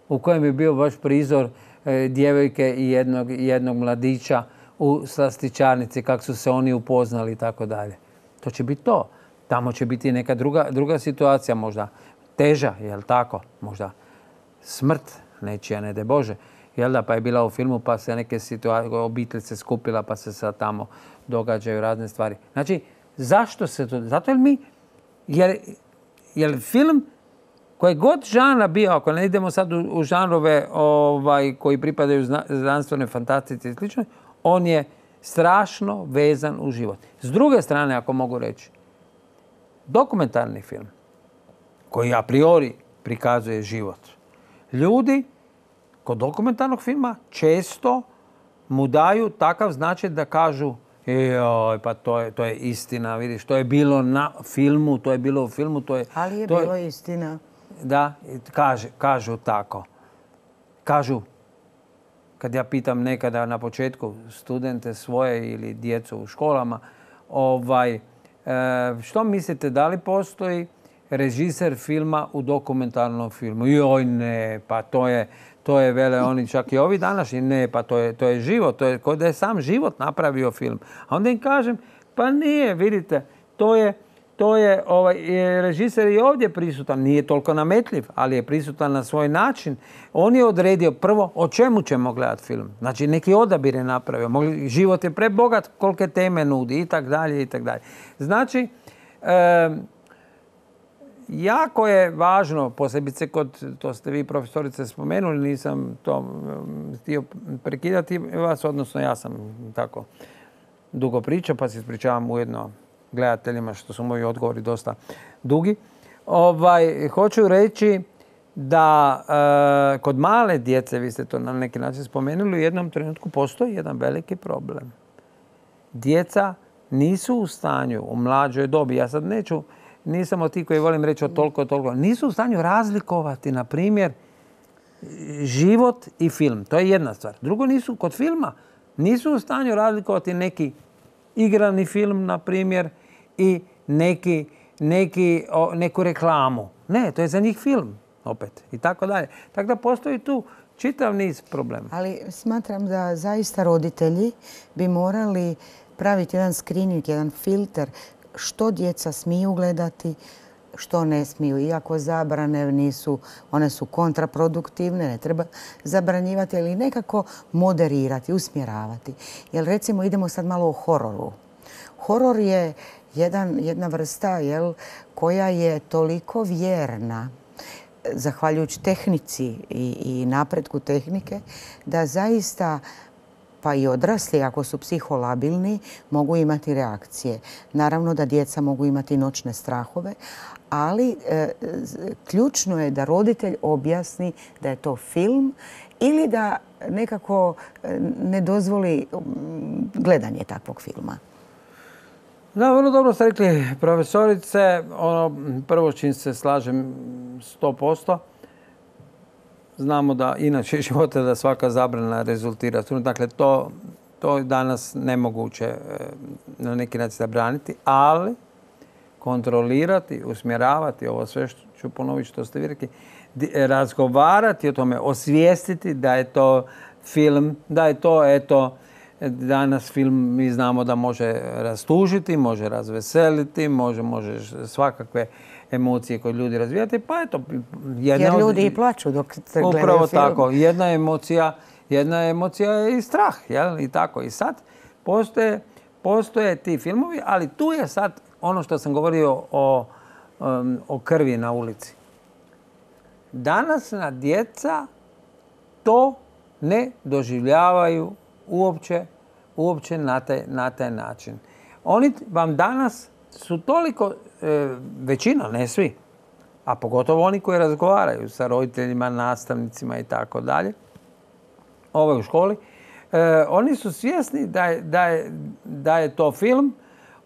u kojem je bio baš prizor e, djevojke i jednog, jednog mladića u slastičarnici, kako su se oni upoznali i tako dalje. To će biti to. Tamo će biti neka druga, druga situacija, možda teža, jel tako? Možda smrt nečija, ne de Bože. Jel da, pa je bila u filmu, pa se neke situacije, obitelj se skupila, pa se sad tamo događaju razne stvari. Znači, zašto se to... Zato jer mi... Jer, jer film koji god žanra bio, ako ne idemo sad u, u žanrove ovaj, koji pripadaju zna, znanstvene fantastici i slično, on je strašno vezan u život. S druge strane, ako mogu reći, dokumentarni film koji a priori prikazuje život. Ljudi kod dokumentarnog filma često mu daju takav značaj da kažu joj, pa to je, to je istina, vidiš, to je bilo na filmu, to je bilo u filmu, to je... Ali je to bilo je, istina. Da, kaže, kažu tako. Kažu, kad ja pitam nekada na početku studente svoje ili djecu u školama, ovaj, e, što mislite, da li postoji režiser filma u dokumentarnom filmu? Joj, ne, pa to je... To je, vele oni čak i ovi današnji, ne, pa to je, to je život, to je kod da je sam život napravio film. A onda im kažem, pa nije, vidite, to je, to je ovaj, režiser je ovdje prisutan, nije toliko nametljiv, ali je prisutan na svoj način. On je odredio prvo o čemu ćemo gledati film. Znači neki odabir je napravio, mogli, život je prebogat kolike teme nudi i tak dalje i tak dalje. Znači, e, jako je važno, posebice kod, to ste vi profesorice spomenuli, nisam to htio prekidati vas, odnosno ja sam tako dugo pričao, pa se ispričavam ujedno gledateljima što su moji odgovori dosta dugi. Ovaj, hoću reći da e, kod male djece, vi ste to na neki način spomenuli, u jednom trenutku postoji jedan veliki problem. Djeca nisu u stanju u mlađoj dobi, ja sad neću, nisam od tih koji volim reći od toliko, toliko, nisu u stanju razlikovati, na primjer, život i film. To je jedna stvar. Drugo, nisu kod filma, nisu u stanju razlikovati neki igrani film, na primjer, i neki, neki, o, neku reklamu. Ne, to je za njih film, opet, i tako dalje. Tako da postoji tu čitav niz problema. Ali smatram da zaista roditelji bi morali praviti jedan screening, jedan filter što djeca smiju gledati, što ne smiju. Iako zabrane nisu, one su kontraproduktivne, ne treba zabranjivati, ali nekako moderirati, usmjeravati. Jer recimo idemo sad malo o hororu. Horor je jedan, jedna vrsta jel, koja je toliko vjerna, zahvaljujući tehnici i, i napretku tehnike, da zaista pa i odrasli, ako su psiholabilni, mogu imati reakcije. Naravno da djeca mogu imati noćne strahove, ali e, ključno je da roditelj objasni da je to film ili da nekako ne dozvoli gledanje takvog filma. Da, vrlo dobro ste rekli, profesorice. Ono, prvo čim se slažem sto posto. Znamo da inače života da svaka zabrana rezultira. Dakle, to, to je danas nemoguće na neki način zabraniti, ali kontrolirati, usmjeravati, ovo sve što ću ponoviti što ste vi rekli, razgovarati o tome, osvijestiti da je to film, da je to, eto, danas film mi znamo da može rastužiti, može razveseliti, može, može svakakve emocije koje ljudi razvijati, pa eto... Jedna Jer ljudi od, i plaću dok se gledaju film. Upravo tako. Jedna emocija, jedna emocija je i strah, jel? I tako. I sad postoje, postoje ti filmovi, ali tu je sad ono što sam govorio o, um, o krvi na ulici. Današnja djeca to ne doživljavaju uopće, uopće na taj, na taj način. Oni vam danas su toliko, e, većina, ne svi, a pogotovo oni koji razgovaraju sa roditeljima, nastavnicima i tako dalje, ovo u školi, e, oni su svjesni da je, da je, da je to film.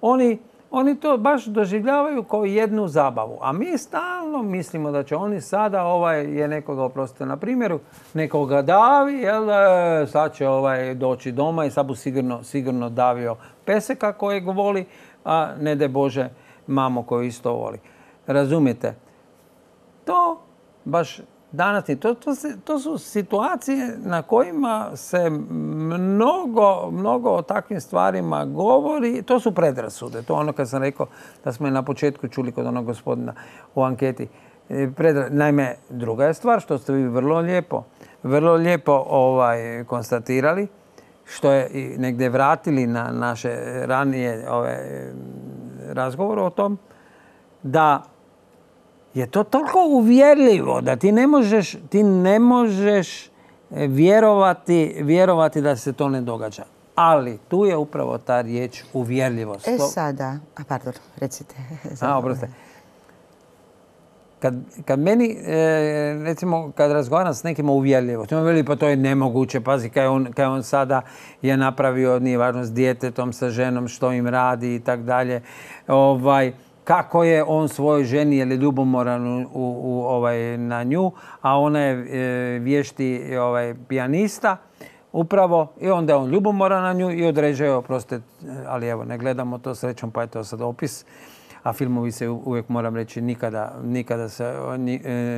Oni, oni to baš doživljavaju kao jednu zabavu. A mi stalno mislimo da će oni sada, ovaj je nekoga, oprostite na primjeru, nekoga davi, jel, e, sad će ovaj doći doma i sad bu sigurno, sigurno davio peseka kojeg voli, a ne de Bože mamo koju isto voli. Razumijete? To baš danas to, to, se, to su situacije na kojima se mnogo, mnogo o takvim stvarima govori. To su predrasude. To ono kad sam rekao da smo je na početku čuli kod onog gospodina u anketi. Predra... Naime, druga je stvar što ste vi vrlo lijepo, vrlo lijepo ovaj, konstatirali, što je i negdje vratili na naše ranije ove, razgovore o tom, da je to toliko uvjerljivo da ti ne možeš, ti ne možeš vjerovati, vjerovati da se to ne događa. Ali tu je upravo ta riječ uvjerljivost. E sada, a pardon, recite. A, oprostite. Kad, kad meni, e, recimo, kad razgovaram s nekima uvjerljivo, to mi veli pa to je nemoguće, pazi, kaj on, kaj on sada je napravio, nije važno, s djetetom, sa ženom, što im radi i tak dalje. Ovaj, kako je on svojoj ženi, je li ljubomoran u, u, ovaj, na nju, a ona je e, vješti ovaj, pijanista, upravo, i onda je on ljubomoran na nju i određuje, oprostite, ali evo, ne gledamo to srećom, pa je to sad opis. A filmovi se uvijek, moram reći, nikada, nikada se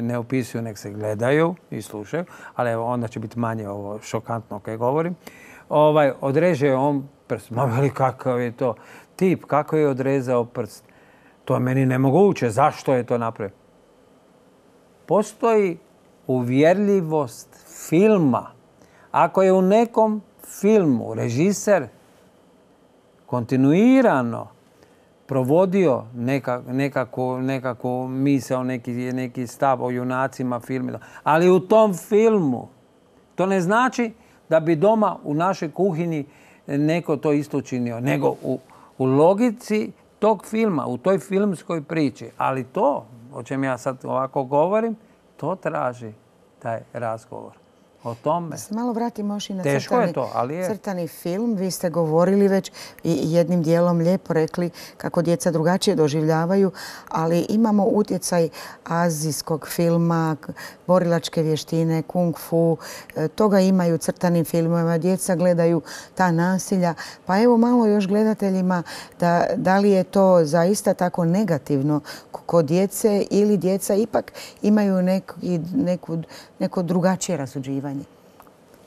ne opisuju, nek se gledaju i slušaju, ali evo, onda će biti manje ovo šokantno kaj govorim. Ovaj, odreže on prst. Ma veli, kakav je to tip, kako je odrezao prst. To je meni nemoguće. Zašto je to napravio? Postoji uvjerljivost filma. Ako je u nekom filmu režiser kontinuirano provodio neka, nekakvu, nekakvu misao, neki, neki stav o junacima filmima. Ali u tom filmu to ne znači da bi doma u našoj kuhinji neko to isto učinio, nego u, u logici tog filma, u toj filmskoj priči. Ali to, o čem ja sad ovako govorim, to traži taj razgovor. O tome. Da se malo vratimo još i na Teško crtani, je to, ali je. crtani film. Vi ste govorili već i jednim dijelom lijepo rekli kako djeca drugačije doživljavaju, ali imamo utjecaj azijskog filma, borilačke vještine, kung fu. Toga imaju u crtanim filmovima. Djeca gledaju ta nasilja. Pa evo malo još gledateljima da, da li je to zaista tako negativno kod djece ili djeca ipak imaju neko, neku, neko drugačije rasuđivanje.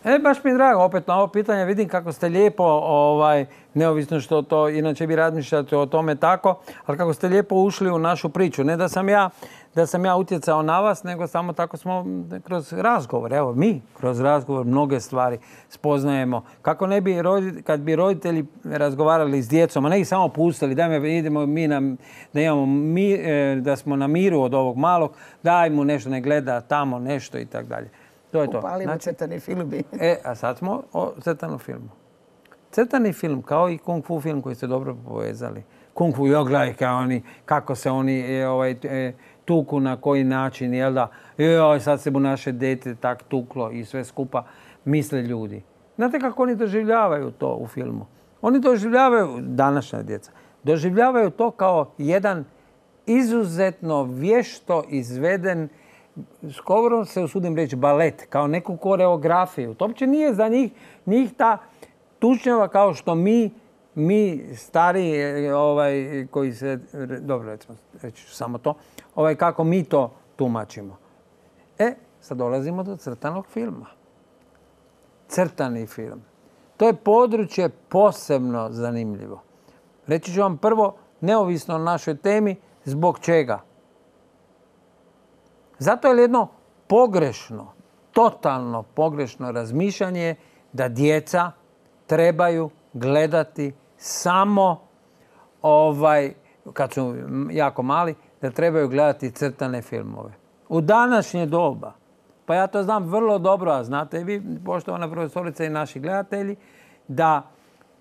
E, baš mi je drago, opet na ovo pitanje vidim kako ste lijepo, ovaj, neovisno što to, inače bi razmišljate o tome tako, ali kako ste lijepo ušli u našu priču. Ne da sam ja, da sam ja utjecao na vas, nego samo tako smo kroz razgovor. Evo, mi kroz razgovor mnoge stvari spoznajemo. Kako ne bi, kad bi roditelji razgovarali s djecom, a ne ih samo pustili, dajme, idemo mi na, da, imamo mi, da smo na miru od ovog malog, daj mu nešto, ne gleda tamo nešto i tako dalje. To je to. Upalimo znači, crtani film. E, a sad smo o crtanom filmu. Crtani film, kao i kung fu film koji ste dobro povezali. Kung fu, jo, gledaj kao oni, kako se oni e, ovaj, e, tuku, na koji način, jel da? Joj, sad se bu naše dete tak tuklo i sve skupa, misle ljudi. Znate kako oni doživljavaju to u filmu? Oni doživljavaju, današnja djeca, doživljavaju to kao jedan izuzetno vješto izveden, skoro se usudim reći balet, kao neku koreografiju. To uopće nije za njih, njih ta tučnjava kao što mi, mi stari, ovaj, koji se, dobro recimo, reći ću samo to, ovaj, kako mi to tumačimo. E, sad dolazimo do crtanog filma. Crtani film. To je područje posebno zanimljivo. Reći ću vam prvo, neovisno o našoj temi, zbog čega. Zato je jedno pogrešno, totalno pogrešno razmišljanje da djeca trebaju gledati samo, ovaj, kad su jako mali, da trebaju gledati crtane filmove. U današnje doba, pa ja to znam vrlo dobro, a znate i vi, poštovana profesorica i naši gledatelji, da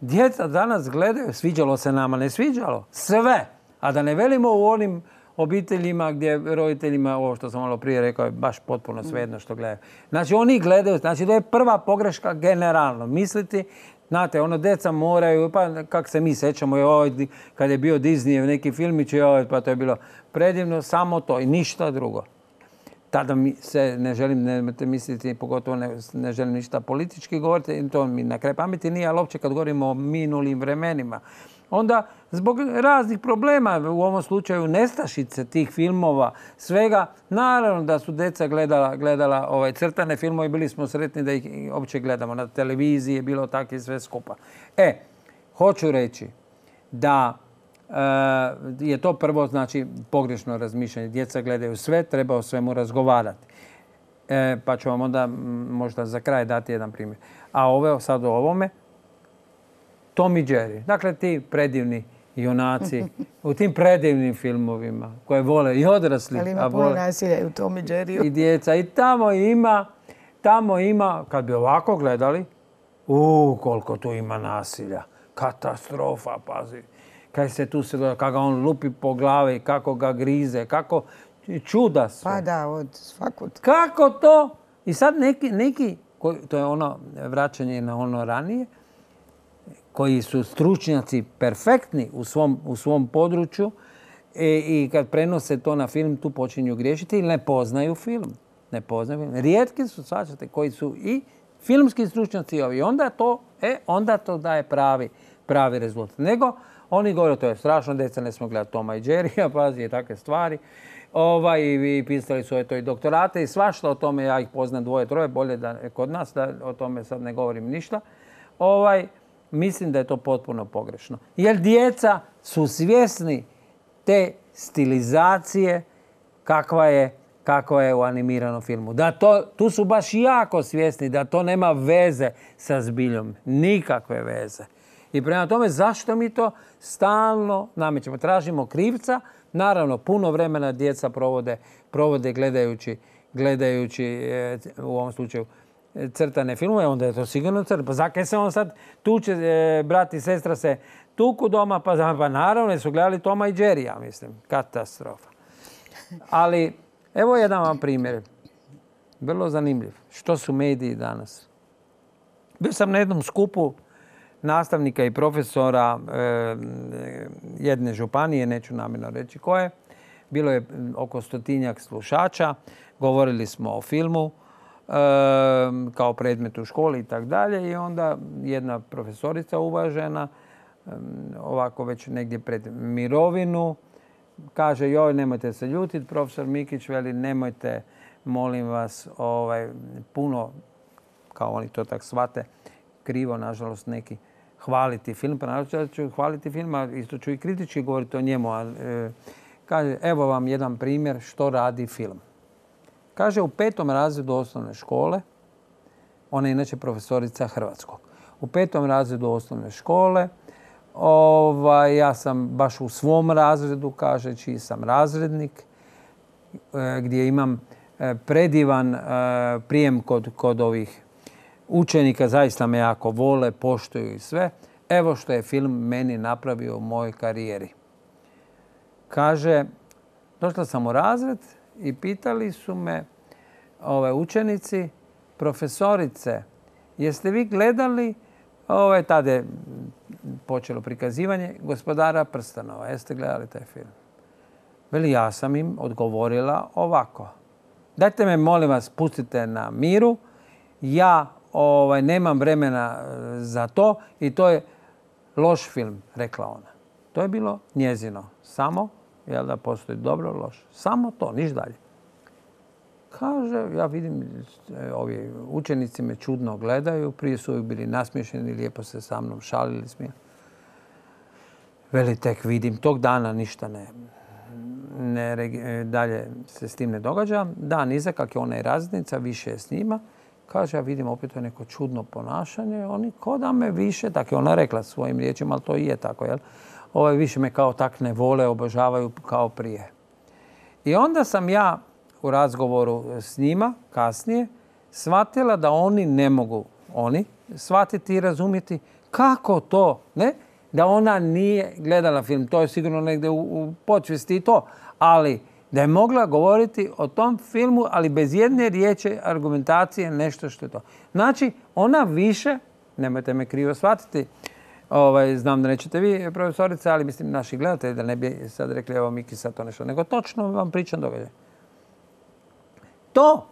djeca danas gledaju, sviđalo se nama, ne sviđalo, sve. A da ne velimo u onim obiteljima gdje roditeljima, ovo što sam malo prije rekao, je baš potpuno svejedno što gledaju. Znači oni gledaju, znači to je prva pogreška generalno. Misliti, znate, ono djeca moraju, pa kak se mi sećamo, joj, kad je bio Disney neki filmić, joj, pa to je bilo predivno, samo to i ništa drugo. Tada mi se, ne želim, nemojte misliti, pogotovo ne, ne želim ništa politički govoriti, to mi na kraj pameti nije, ali uopće kad govorimo o minulim vremenima. Onda, zbog raznih problema, u ovom slučaju nestašice tih filmova, svega, naravno da su djeca gledala, gledala ovaj, crtane filmove i bili smo sretni da ih uopće gledamo. Na televiziji je bilo tako i sve skupa. E, hoću reći da e, je to prvo, znači, pogrešno razmišljanje. Djeca gledaju sve, treba o svemu razgovarati. E, pa ću vam onda možda za kraj dati jedan primjer. A ove, sad o ovome, Tom i Jerry. Dakle, ti predivni junaci u tim predivnim filmovima koje vole i odrasli. Ali ima puno nasilja u Tom i Jerryu. I djeca. I tamo ima, tamo ima, kad bi ovako gledali, u koliko tu ima nasilja. Katastrofa, pazi. Kaj se tu se gleda, kako ga on lupi po glavi, kako ga grize, kako čuda su. Pa da, od svakud. Kako to? I sad neki, neki to je ono vraćanje na ono ranije, koji su stručnjaci perfektni u svom, u svom području i, i kad prenose to na film, tu počinju griješiti ili ne poznaju film. Ne poznaju film. Rijetki su, svačate, koji su i filmski stručnjaci i ovi. Onda to, e, onda to daje pravi, pravi rezultat. Nego, oni govore, to je strašno, djeca ne smo gledati Toma i Jerrya, pazi, i takve stvari. Ovaj, i pisali su to i doktorate i svašta o tome, ja ih poznam dvoje, troje, bolje da kod nas, da o tome sad ne govorim ništa. Ovaj, mislim da je to potpuno pogrešno. Jer djeca su svjesni te stilizacije kakva je, kakva je u animiranom filmu. Da to, tu su baš jako svjesni da to nema veze sa zbiljom. Nikakve veze. I prema tome, zašto mi to stalno namećemo? Tražimo krivca. Naravno, puno vremena djeca provode, provode gledajući, gledajući e, u ovom slučaju crtane filmove, onda je to sigurno crtano. Pa zakaj se on sad tuče, e, brat i sestra se tuku doma, pa, pa naravno su gledali Toma i Jerry, ja mislim. Katastrofa. Ali, evo jedan vam primjer. Vrlo zanimljiv. Što su mediji danas? Bio sam na jednom skupu nastavnika i profesora e, jedne županije, neću namjerno reći koje. Bilo je oko stotinjak slušača. Govorili smo o filmu e, kao predmetu u školi i tako dalje. I onda jedna profesorica uvažena, e, ovako već negdje pred mirovinu, kaže, joj, nemojte se ljutiti, profesor Mikić veli, nemojte, molim vas, ovaj, puno, kao oni to tak shvate, krivo, nažalost, neki, hvaliti film, pa naravno ću hvaliti film, a isto ću i kritički govoriti o njemu. A, e, kaže, evo vam jedan primjer što radi film. Kaže, u petom razredu osnovne škole, ona je inače profesorica hrvatskog, u petom razredu osnovne škole, ovaj, ja sam baš u svom razredu, kaže, čiji sam razrednik, e, gdje imam e, predivan e, prijem kod, kod ovih učenika, zaista me jako vole, poštuju i sve. Evo što je film meni napravio u mojoj karijeri. Kaže, došla sam u razred i pitali su me ove učenici, profesorice, jeste vi gledali, ove, tada je počelo prikazivanje, Gospodara prstenova. Jeste gledali taj film? Veli, ja sam im odgovorila ovako. Dajte me, molim vas, pustite na miru. Ja Ovaj, nemam vremena za to i to je loš film, rekla ona. To je bilo njezino. Samo, jel da postoji dobro, loš. Samo to, niš dalje. Kaže, ja vidim, ovi učenici me čudno gledaju, prije su uvijek bili nasmiješeni, lijepo se sa mnom šalili, smijeli. Veli, tek vidim, tog dana ništa ne, ne dalje se s tim ne događa. Dan iza, kak je ona i razrednica, više je s njima. Kaže, ja vidim opet to neko čudno ponašanje. Oni ko da me više, tako je ona rekla svojim riječima, ali to i je tako, jel? Ovaj, više me kao tak ne vole, obožavaju kao prije. I onda sam ja u razgovoru s njima kasnije shvatila da oni ne mogu, oni, shvatiti i razumjeti kako to, ne? Da ona nije gledala film. To je sigurno negdje u, u podsvijesti i to, ali da je mogla govoriti o tom filmu, ali bez jedne riječi argumentacije, nešto što je to. Znači, ona više, nemojte me krivo shvatiti, ovaj, znam da nećete vi, profesorica, ali mislim naši gledatelji, da ne bi sad rekli, evo Miki sad to nešto, nego točno vam pričam događaj. To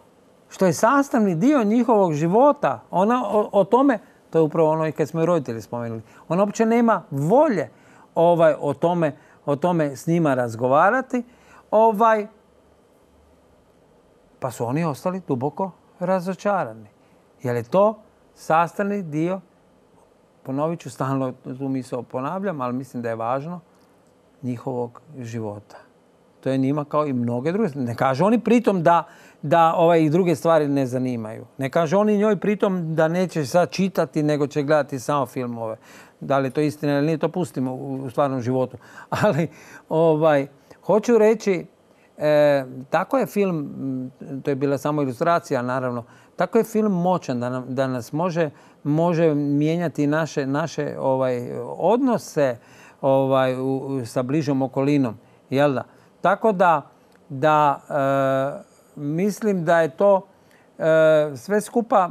što je sastavni dio njihovog života, ona o, o tome, to je upravo ono i kad smo i roditelji spomenuli, ona uopće nema volje ovaj, o, tome, o tome s njima razgovarati, Ovaj, pa su oni ostali duboko razočarani. Jer je to sastavni dio, ponovit ću stalno, tu misao ponavljam, ali mislim da je važno, njihovog života. To je njima kao i mnoge druge. Ne kaže oni pritom da, da ovaj, i druge stvari ne zanimaju. Ne kaže oni njoj pritom da neće sad čitati, nego će gledati samo filmove. Da li je to istina ili nije, to pustimo u, u stvarnom životu. Ali, ovaj, hoću reći, e, tako je film, to je bila samo ilustracija naravno, tako je film moćan da, nam, da nas može, može mijenjati naše, naše ovaj, odnose ovaj, u, sa bližom okolinom. Jel da? Tako da da mislim da je to sve skupa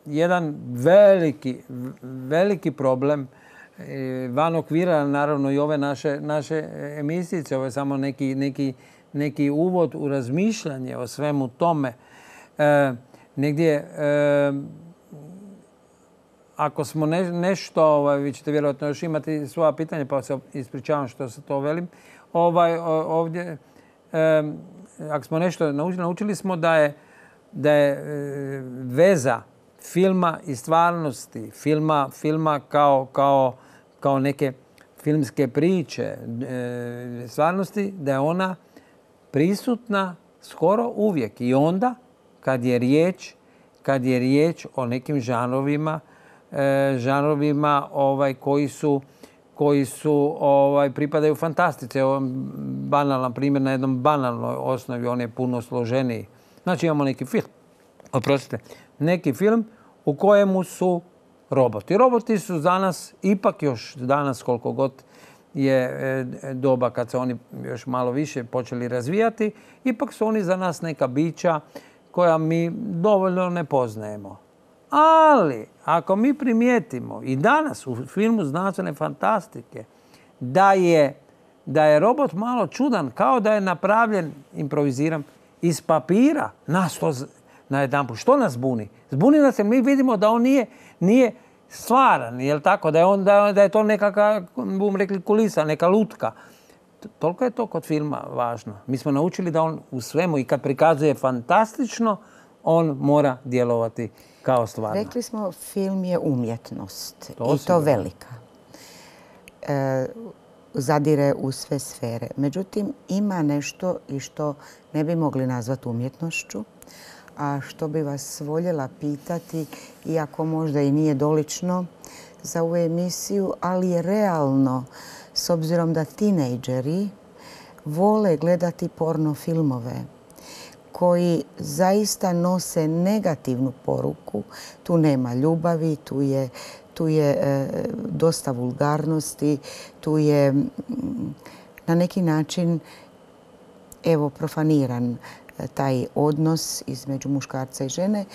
jedan veliki, veliki problem van okvira, naravno i ove naše, naše emisice. Ovo je samo neki, neki, neki uvod u razmišljanje o svemu tome. E, negdje, e, ako smo ne, nešto, ovaj, vi ćete vjerojatno još imati svoja pitanja, pa se ispričavam što se to velim. Ovaj, ovdje, e, ako smo nešto naučili, naučili smo da je, da je e, veza filma i stvarnosti, filma, filma kao, kao, kao neke filmske priče, e, stvarnosti, da je ona prisutna skoro uvijek. I onda, kad je riječ, kad je riječ o nekim žanrovima, e, žanrovima ovaj, koji su, koji su ovaj, pripadaju fantastici. Evo, banalan primjer na jednom banalnoj osnovi, on je puno složeniji. Znači imamo neki film, oprostite, neki film u kojemu su roboti. Roboti su za nas, ipak još danas koliko god je doba kad se oni još malo više počeli razvijati, ipak su oni za nas neka bića koja mi dovoljno ne poznajemo. Ali, ako mi primijetimo i danas u filmu znanstvene fantastike da je, da je robot malo čudan, kao da je napravljen, improviziram, iz papira, nas to najedanput. Što nas buni? Zbuni nas jer mi vidimo da on nije, nije stvaran, jel tako? Da je, on, da, da je to nekakva, bum rekli, kulisa, neka lutka. Toliko je to kod filma važno. Mi smo naučili da on u svemu i kad prikazuje fantastično, on mora djelovati kao stvarno. Rekli smo, film je umjetnost to i to velika. E, zadire u sve sfere. Međutim, ima nešto i što ne bi mogli nazvati umjetnošću, a što bi vas voljela pitati, iako možda i nije dolično za ovu emisiju, ali je realno, s obzirom da tinejdžeri vole gledati porno filmove koji zaista nose negativnu poruku. Tu nema ljubavi, tu je, tu je e, dosta vulgarnosti, tu je m, na neki način evo profaniran taj odnos između muškarca i žene,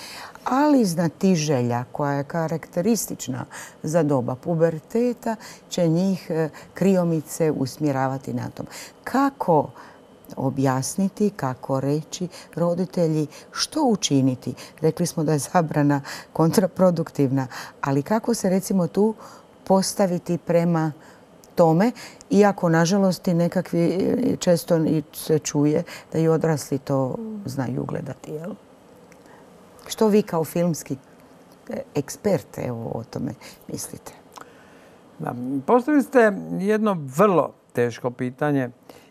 ali znatiželja koja je karakteristična za doba puberteta će njih kriomice usmjeravati na tom. Kako objasniti, kako reći roditelji, što učiniti? Rekli smo da je zabrana kontraproduktivna, ali kako se recimo tu postaviti prema tome, iako nažalost i nekakvi često se čuje da i odrasli to znaju gledati. Jel? Što vi kao filmski ekspert evo, o tome mislite? Da, postavili ste jedno vrlo teško pitanje.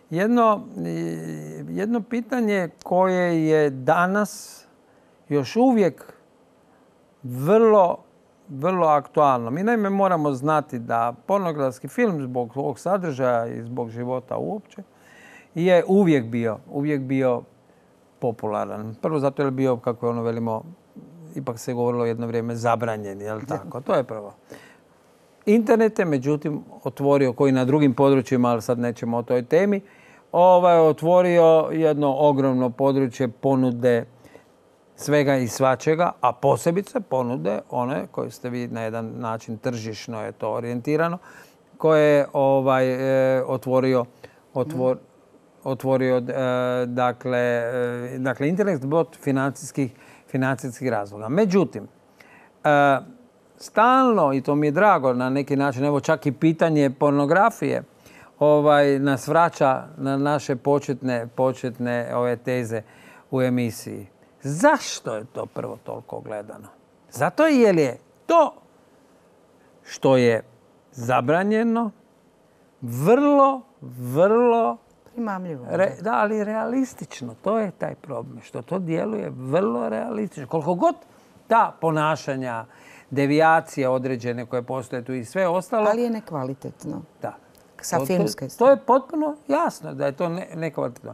Jedno, jedno pitanje koje je danas još uvijek vrlo vrlo aktualno. Mi naime moramo znati da pornografski film zbog ovog sadržaja i zbog života uopće je uvijek bio, uvijek bio popularan. Prvo zato je bio, kako je ono velimo, ipak se govorilo jedno vrijeme zabranjen, jel tako? To je prvo. Internet je međutim otvorio, koji na drugim područjima, ali sad nećemo o toj temi, ovaj, otvorio jedno ogromno područje ponude svega i svačega, a posebice ponude one koje ste vi na jedan način tržišno je to orijentirano, koje je ovaj, e, otvorio, otvor, otvorio e, dakle, e, dakle, internet zbog financijskih, financijskih razloga. Međutim, e, stalno, i to mi je drago na neki način, evo čak i pitanje pornografije, ovaj, nas vraća na naše početne, početne ove teze u emisiji. Zašto je to prvo toliko gledano? Zato jer je to što je zabranjeno vrlo, vrlo primamljivo. Re, da, ali realistično. To je taj problem. Što to djeluje vrlo realistično. Koliko god ta ponašanja, devijacije određene koje postoje tu i sve ostalo. Ali je nekvalitetno. Da. Sa filmske to, to je potpuno jasno da je to ne, nekvalitetno.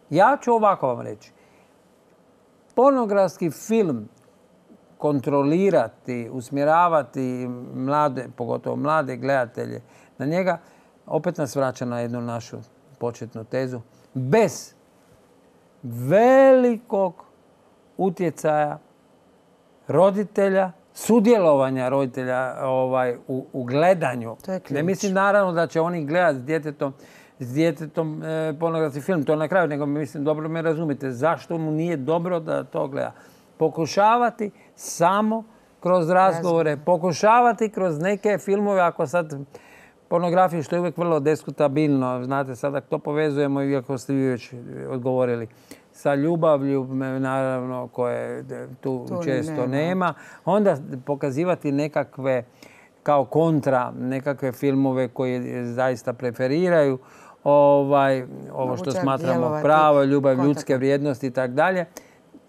Ja ću ovako vam reći. Pornografski film kontrolirati, usmjeravati mlade, pogotovo mlade gledatelje na njega, opet nas vraća na jednu našu početnu tezu, bez velikog utjecaja roditelja, sudjelovanja roditelja ovaj, u, u gledanju. Ne mislim naravno da će oni gledati s djetetom, s djetetom e, pornografski film, to na kraju, nego mislim, dobro me razumite, zašto mu nije dobro da to gleda. Pokušavati samo kroz razgovore, pokušavati kroz neke filmove, ako sad pornografiju, što je uvijek vrlo diskutabilno, znate, sada to povezujemo, iako ste vi već odgovorili, sa ljubavlju, naravno, koje tu, tu često nema. nema. Onda pokazivati nekakve, kao kontra, nekakve filmove koje zaista preferiraju, ovaj, ovo što smatramo pravo, ljubav, kontakt. Ljudske vrijednosti i tako dalje.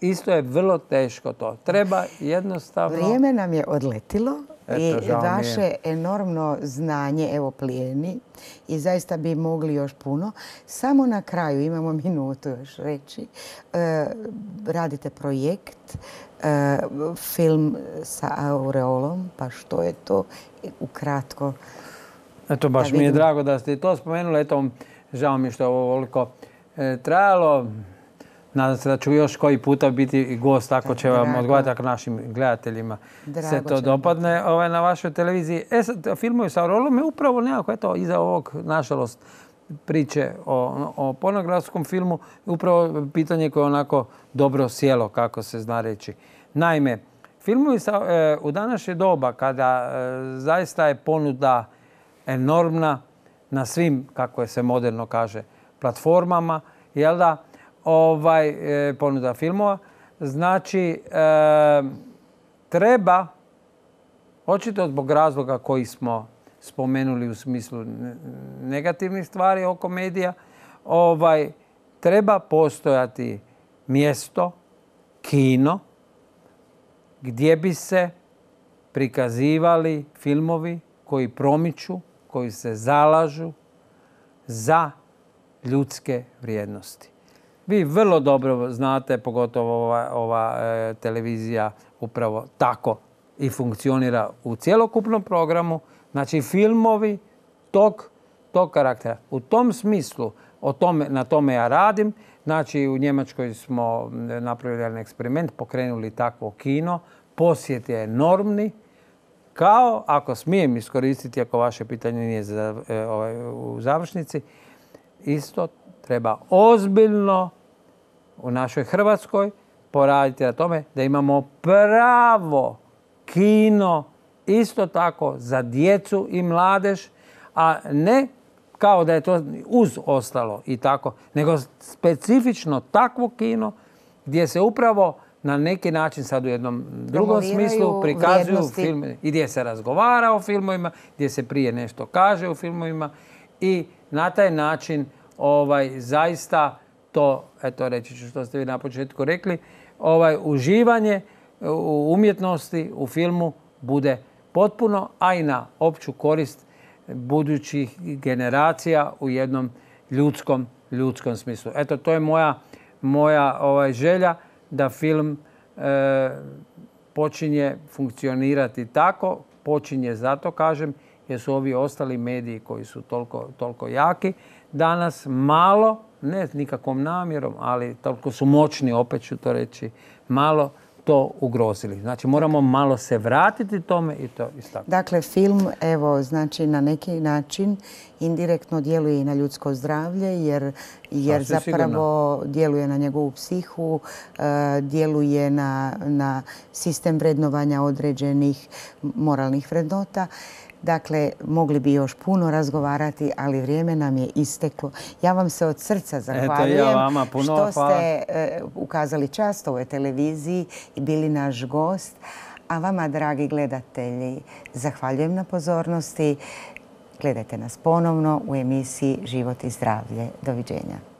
Isto je vrlo teško to. Treba jednostavno... Vrijeme nam je odletilo. Eto, i vaše enormno znanje, evo, plijeni i zaista bi mogli još puno. Samo na kraju, imamo minutu još reći, e, radite projekt, e, film sa aureolom, pa što je to ukratko? Eto, baš mi je drago da ste to spomenuli. Eto, žao mi što je ovo ovoliko e, trajalo. Nadam se da ću još koji puta biti i gost, ako će vam odgovarati, ako našim gledateljima se to dopadne ovaj, na vašoj televiziji. E sad, filmovi sa aureolom je upravo nekako, eto, iza ovog, nažalost, priče o, o pornografskom filmu, upravo pitanje koje je onako dobro sjelo, kako se zna reći. Naime, filmovi sa, e, u današnje doba, kada e, zaista je ponuda enormna na svim, kako je se moderno kaže, platformama, jel da, ovaj, e, ponuda filmova. Znači, e, treba, očito zbog razloga koji smo spomenuli u smislu negativnih stvari oko medija, ovaj, treba postojati mjesto, kino, gdje bi se prikazivali filmovi koji promiču, koji se zalažu za ljudske vrijednosti. Vi vrlo dobro znate, pogotovo ova, ova e, televizija upravo tako i funkcionira u cjelokupnom programu. Znači, filmovi tog, tog karaktera. U tom smislu, o tome, na tome ja radim. Znači, u Njemačkoj smo napravili jedan eksperiment, pokrenuli takvo kino. Posjet je enormni. Kao, ako smijem iskoristiti, ako vaše pitanje nije za, e, ovaj, u završnici, isto treba ozbiljno u našoj Hrvatskoj poraditi na tome da imamo pravo kino isto tako za djecu i mladež, a ne kao da je to uz ostalo i tako, nego specifično takvo kino gdje se upravo na neki način sad u jednom drugom smislu prikazuju filmove i gdje se razgovara o filmovima, gdje se prije nešto kaže o filmovima i na taj način ovaj, zaista to, eto reći ću što ste vi na početku rekli, ovaj, uživanje u umjetnosti, u filmu bude potpuno, a i na opću korist budućih generacija u jednom ljudskom, ljudskom smislu. Eto, to je moja, moja ovaj, želja da film e, počinje funkcionirati tako, počinje zato, kažem, jer su ovi ostali mediji koji su toliko, toliko jaki, danas malo, ne nikakvom namjerom, ali toliko su moćni, opet ću to reći, malo to ugrozili. Znači, moramo malo se vratiti tome i to istaknuti. Dakle, film, evo, znači, na neki način indirektno djeluje i na ljudsko zdravlje, jer, jer zapravo djeluje na njegovu psihu, djeluje na, na sistem vrednovanja određenih moralnih vrednota. Dakle, mogli bi još puno razgovarati, ali vrijeme nam je isteklo. Ja vam se od srca zahvaljujem. Eto, ja vama puno što ste uh, ukazali čast ovoj televiziji i bili naš gost. A vama, dragi gledatelji, zahvaljujem na pozornosti. Gledajte nas ponovno u emisiji Život i zdravlje. Doviđenja.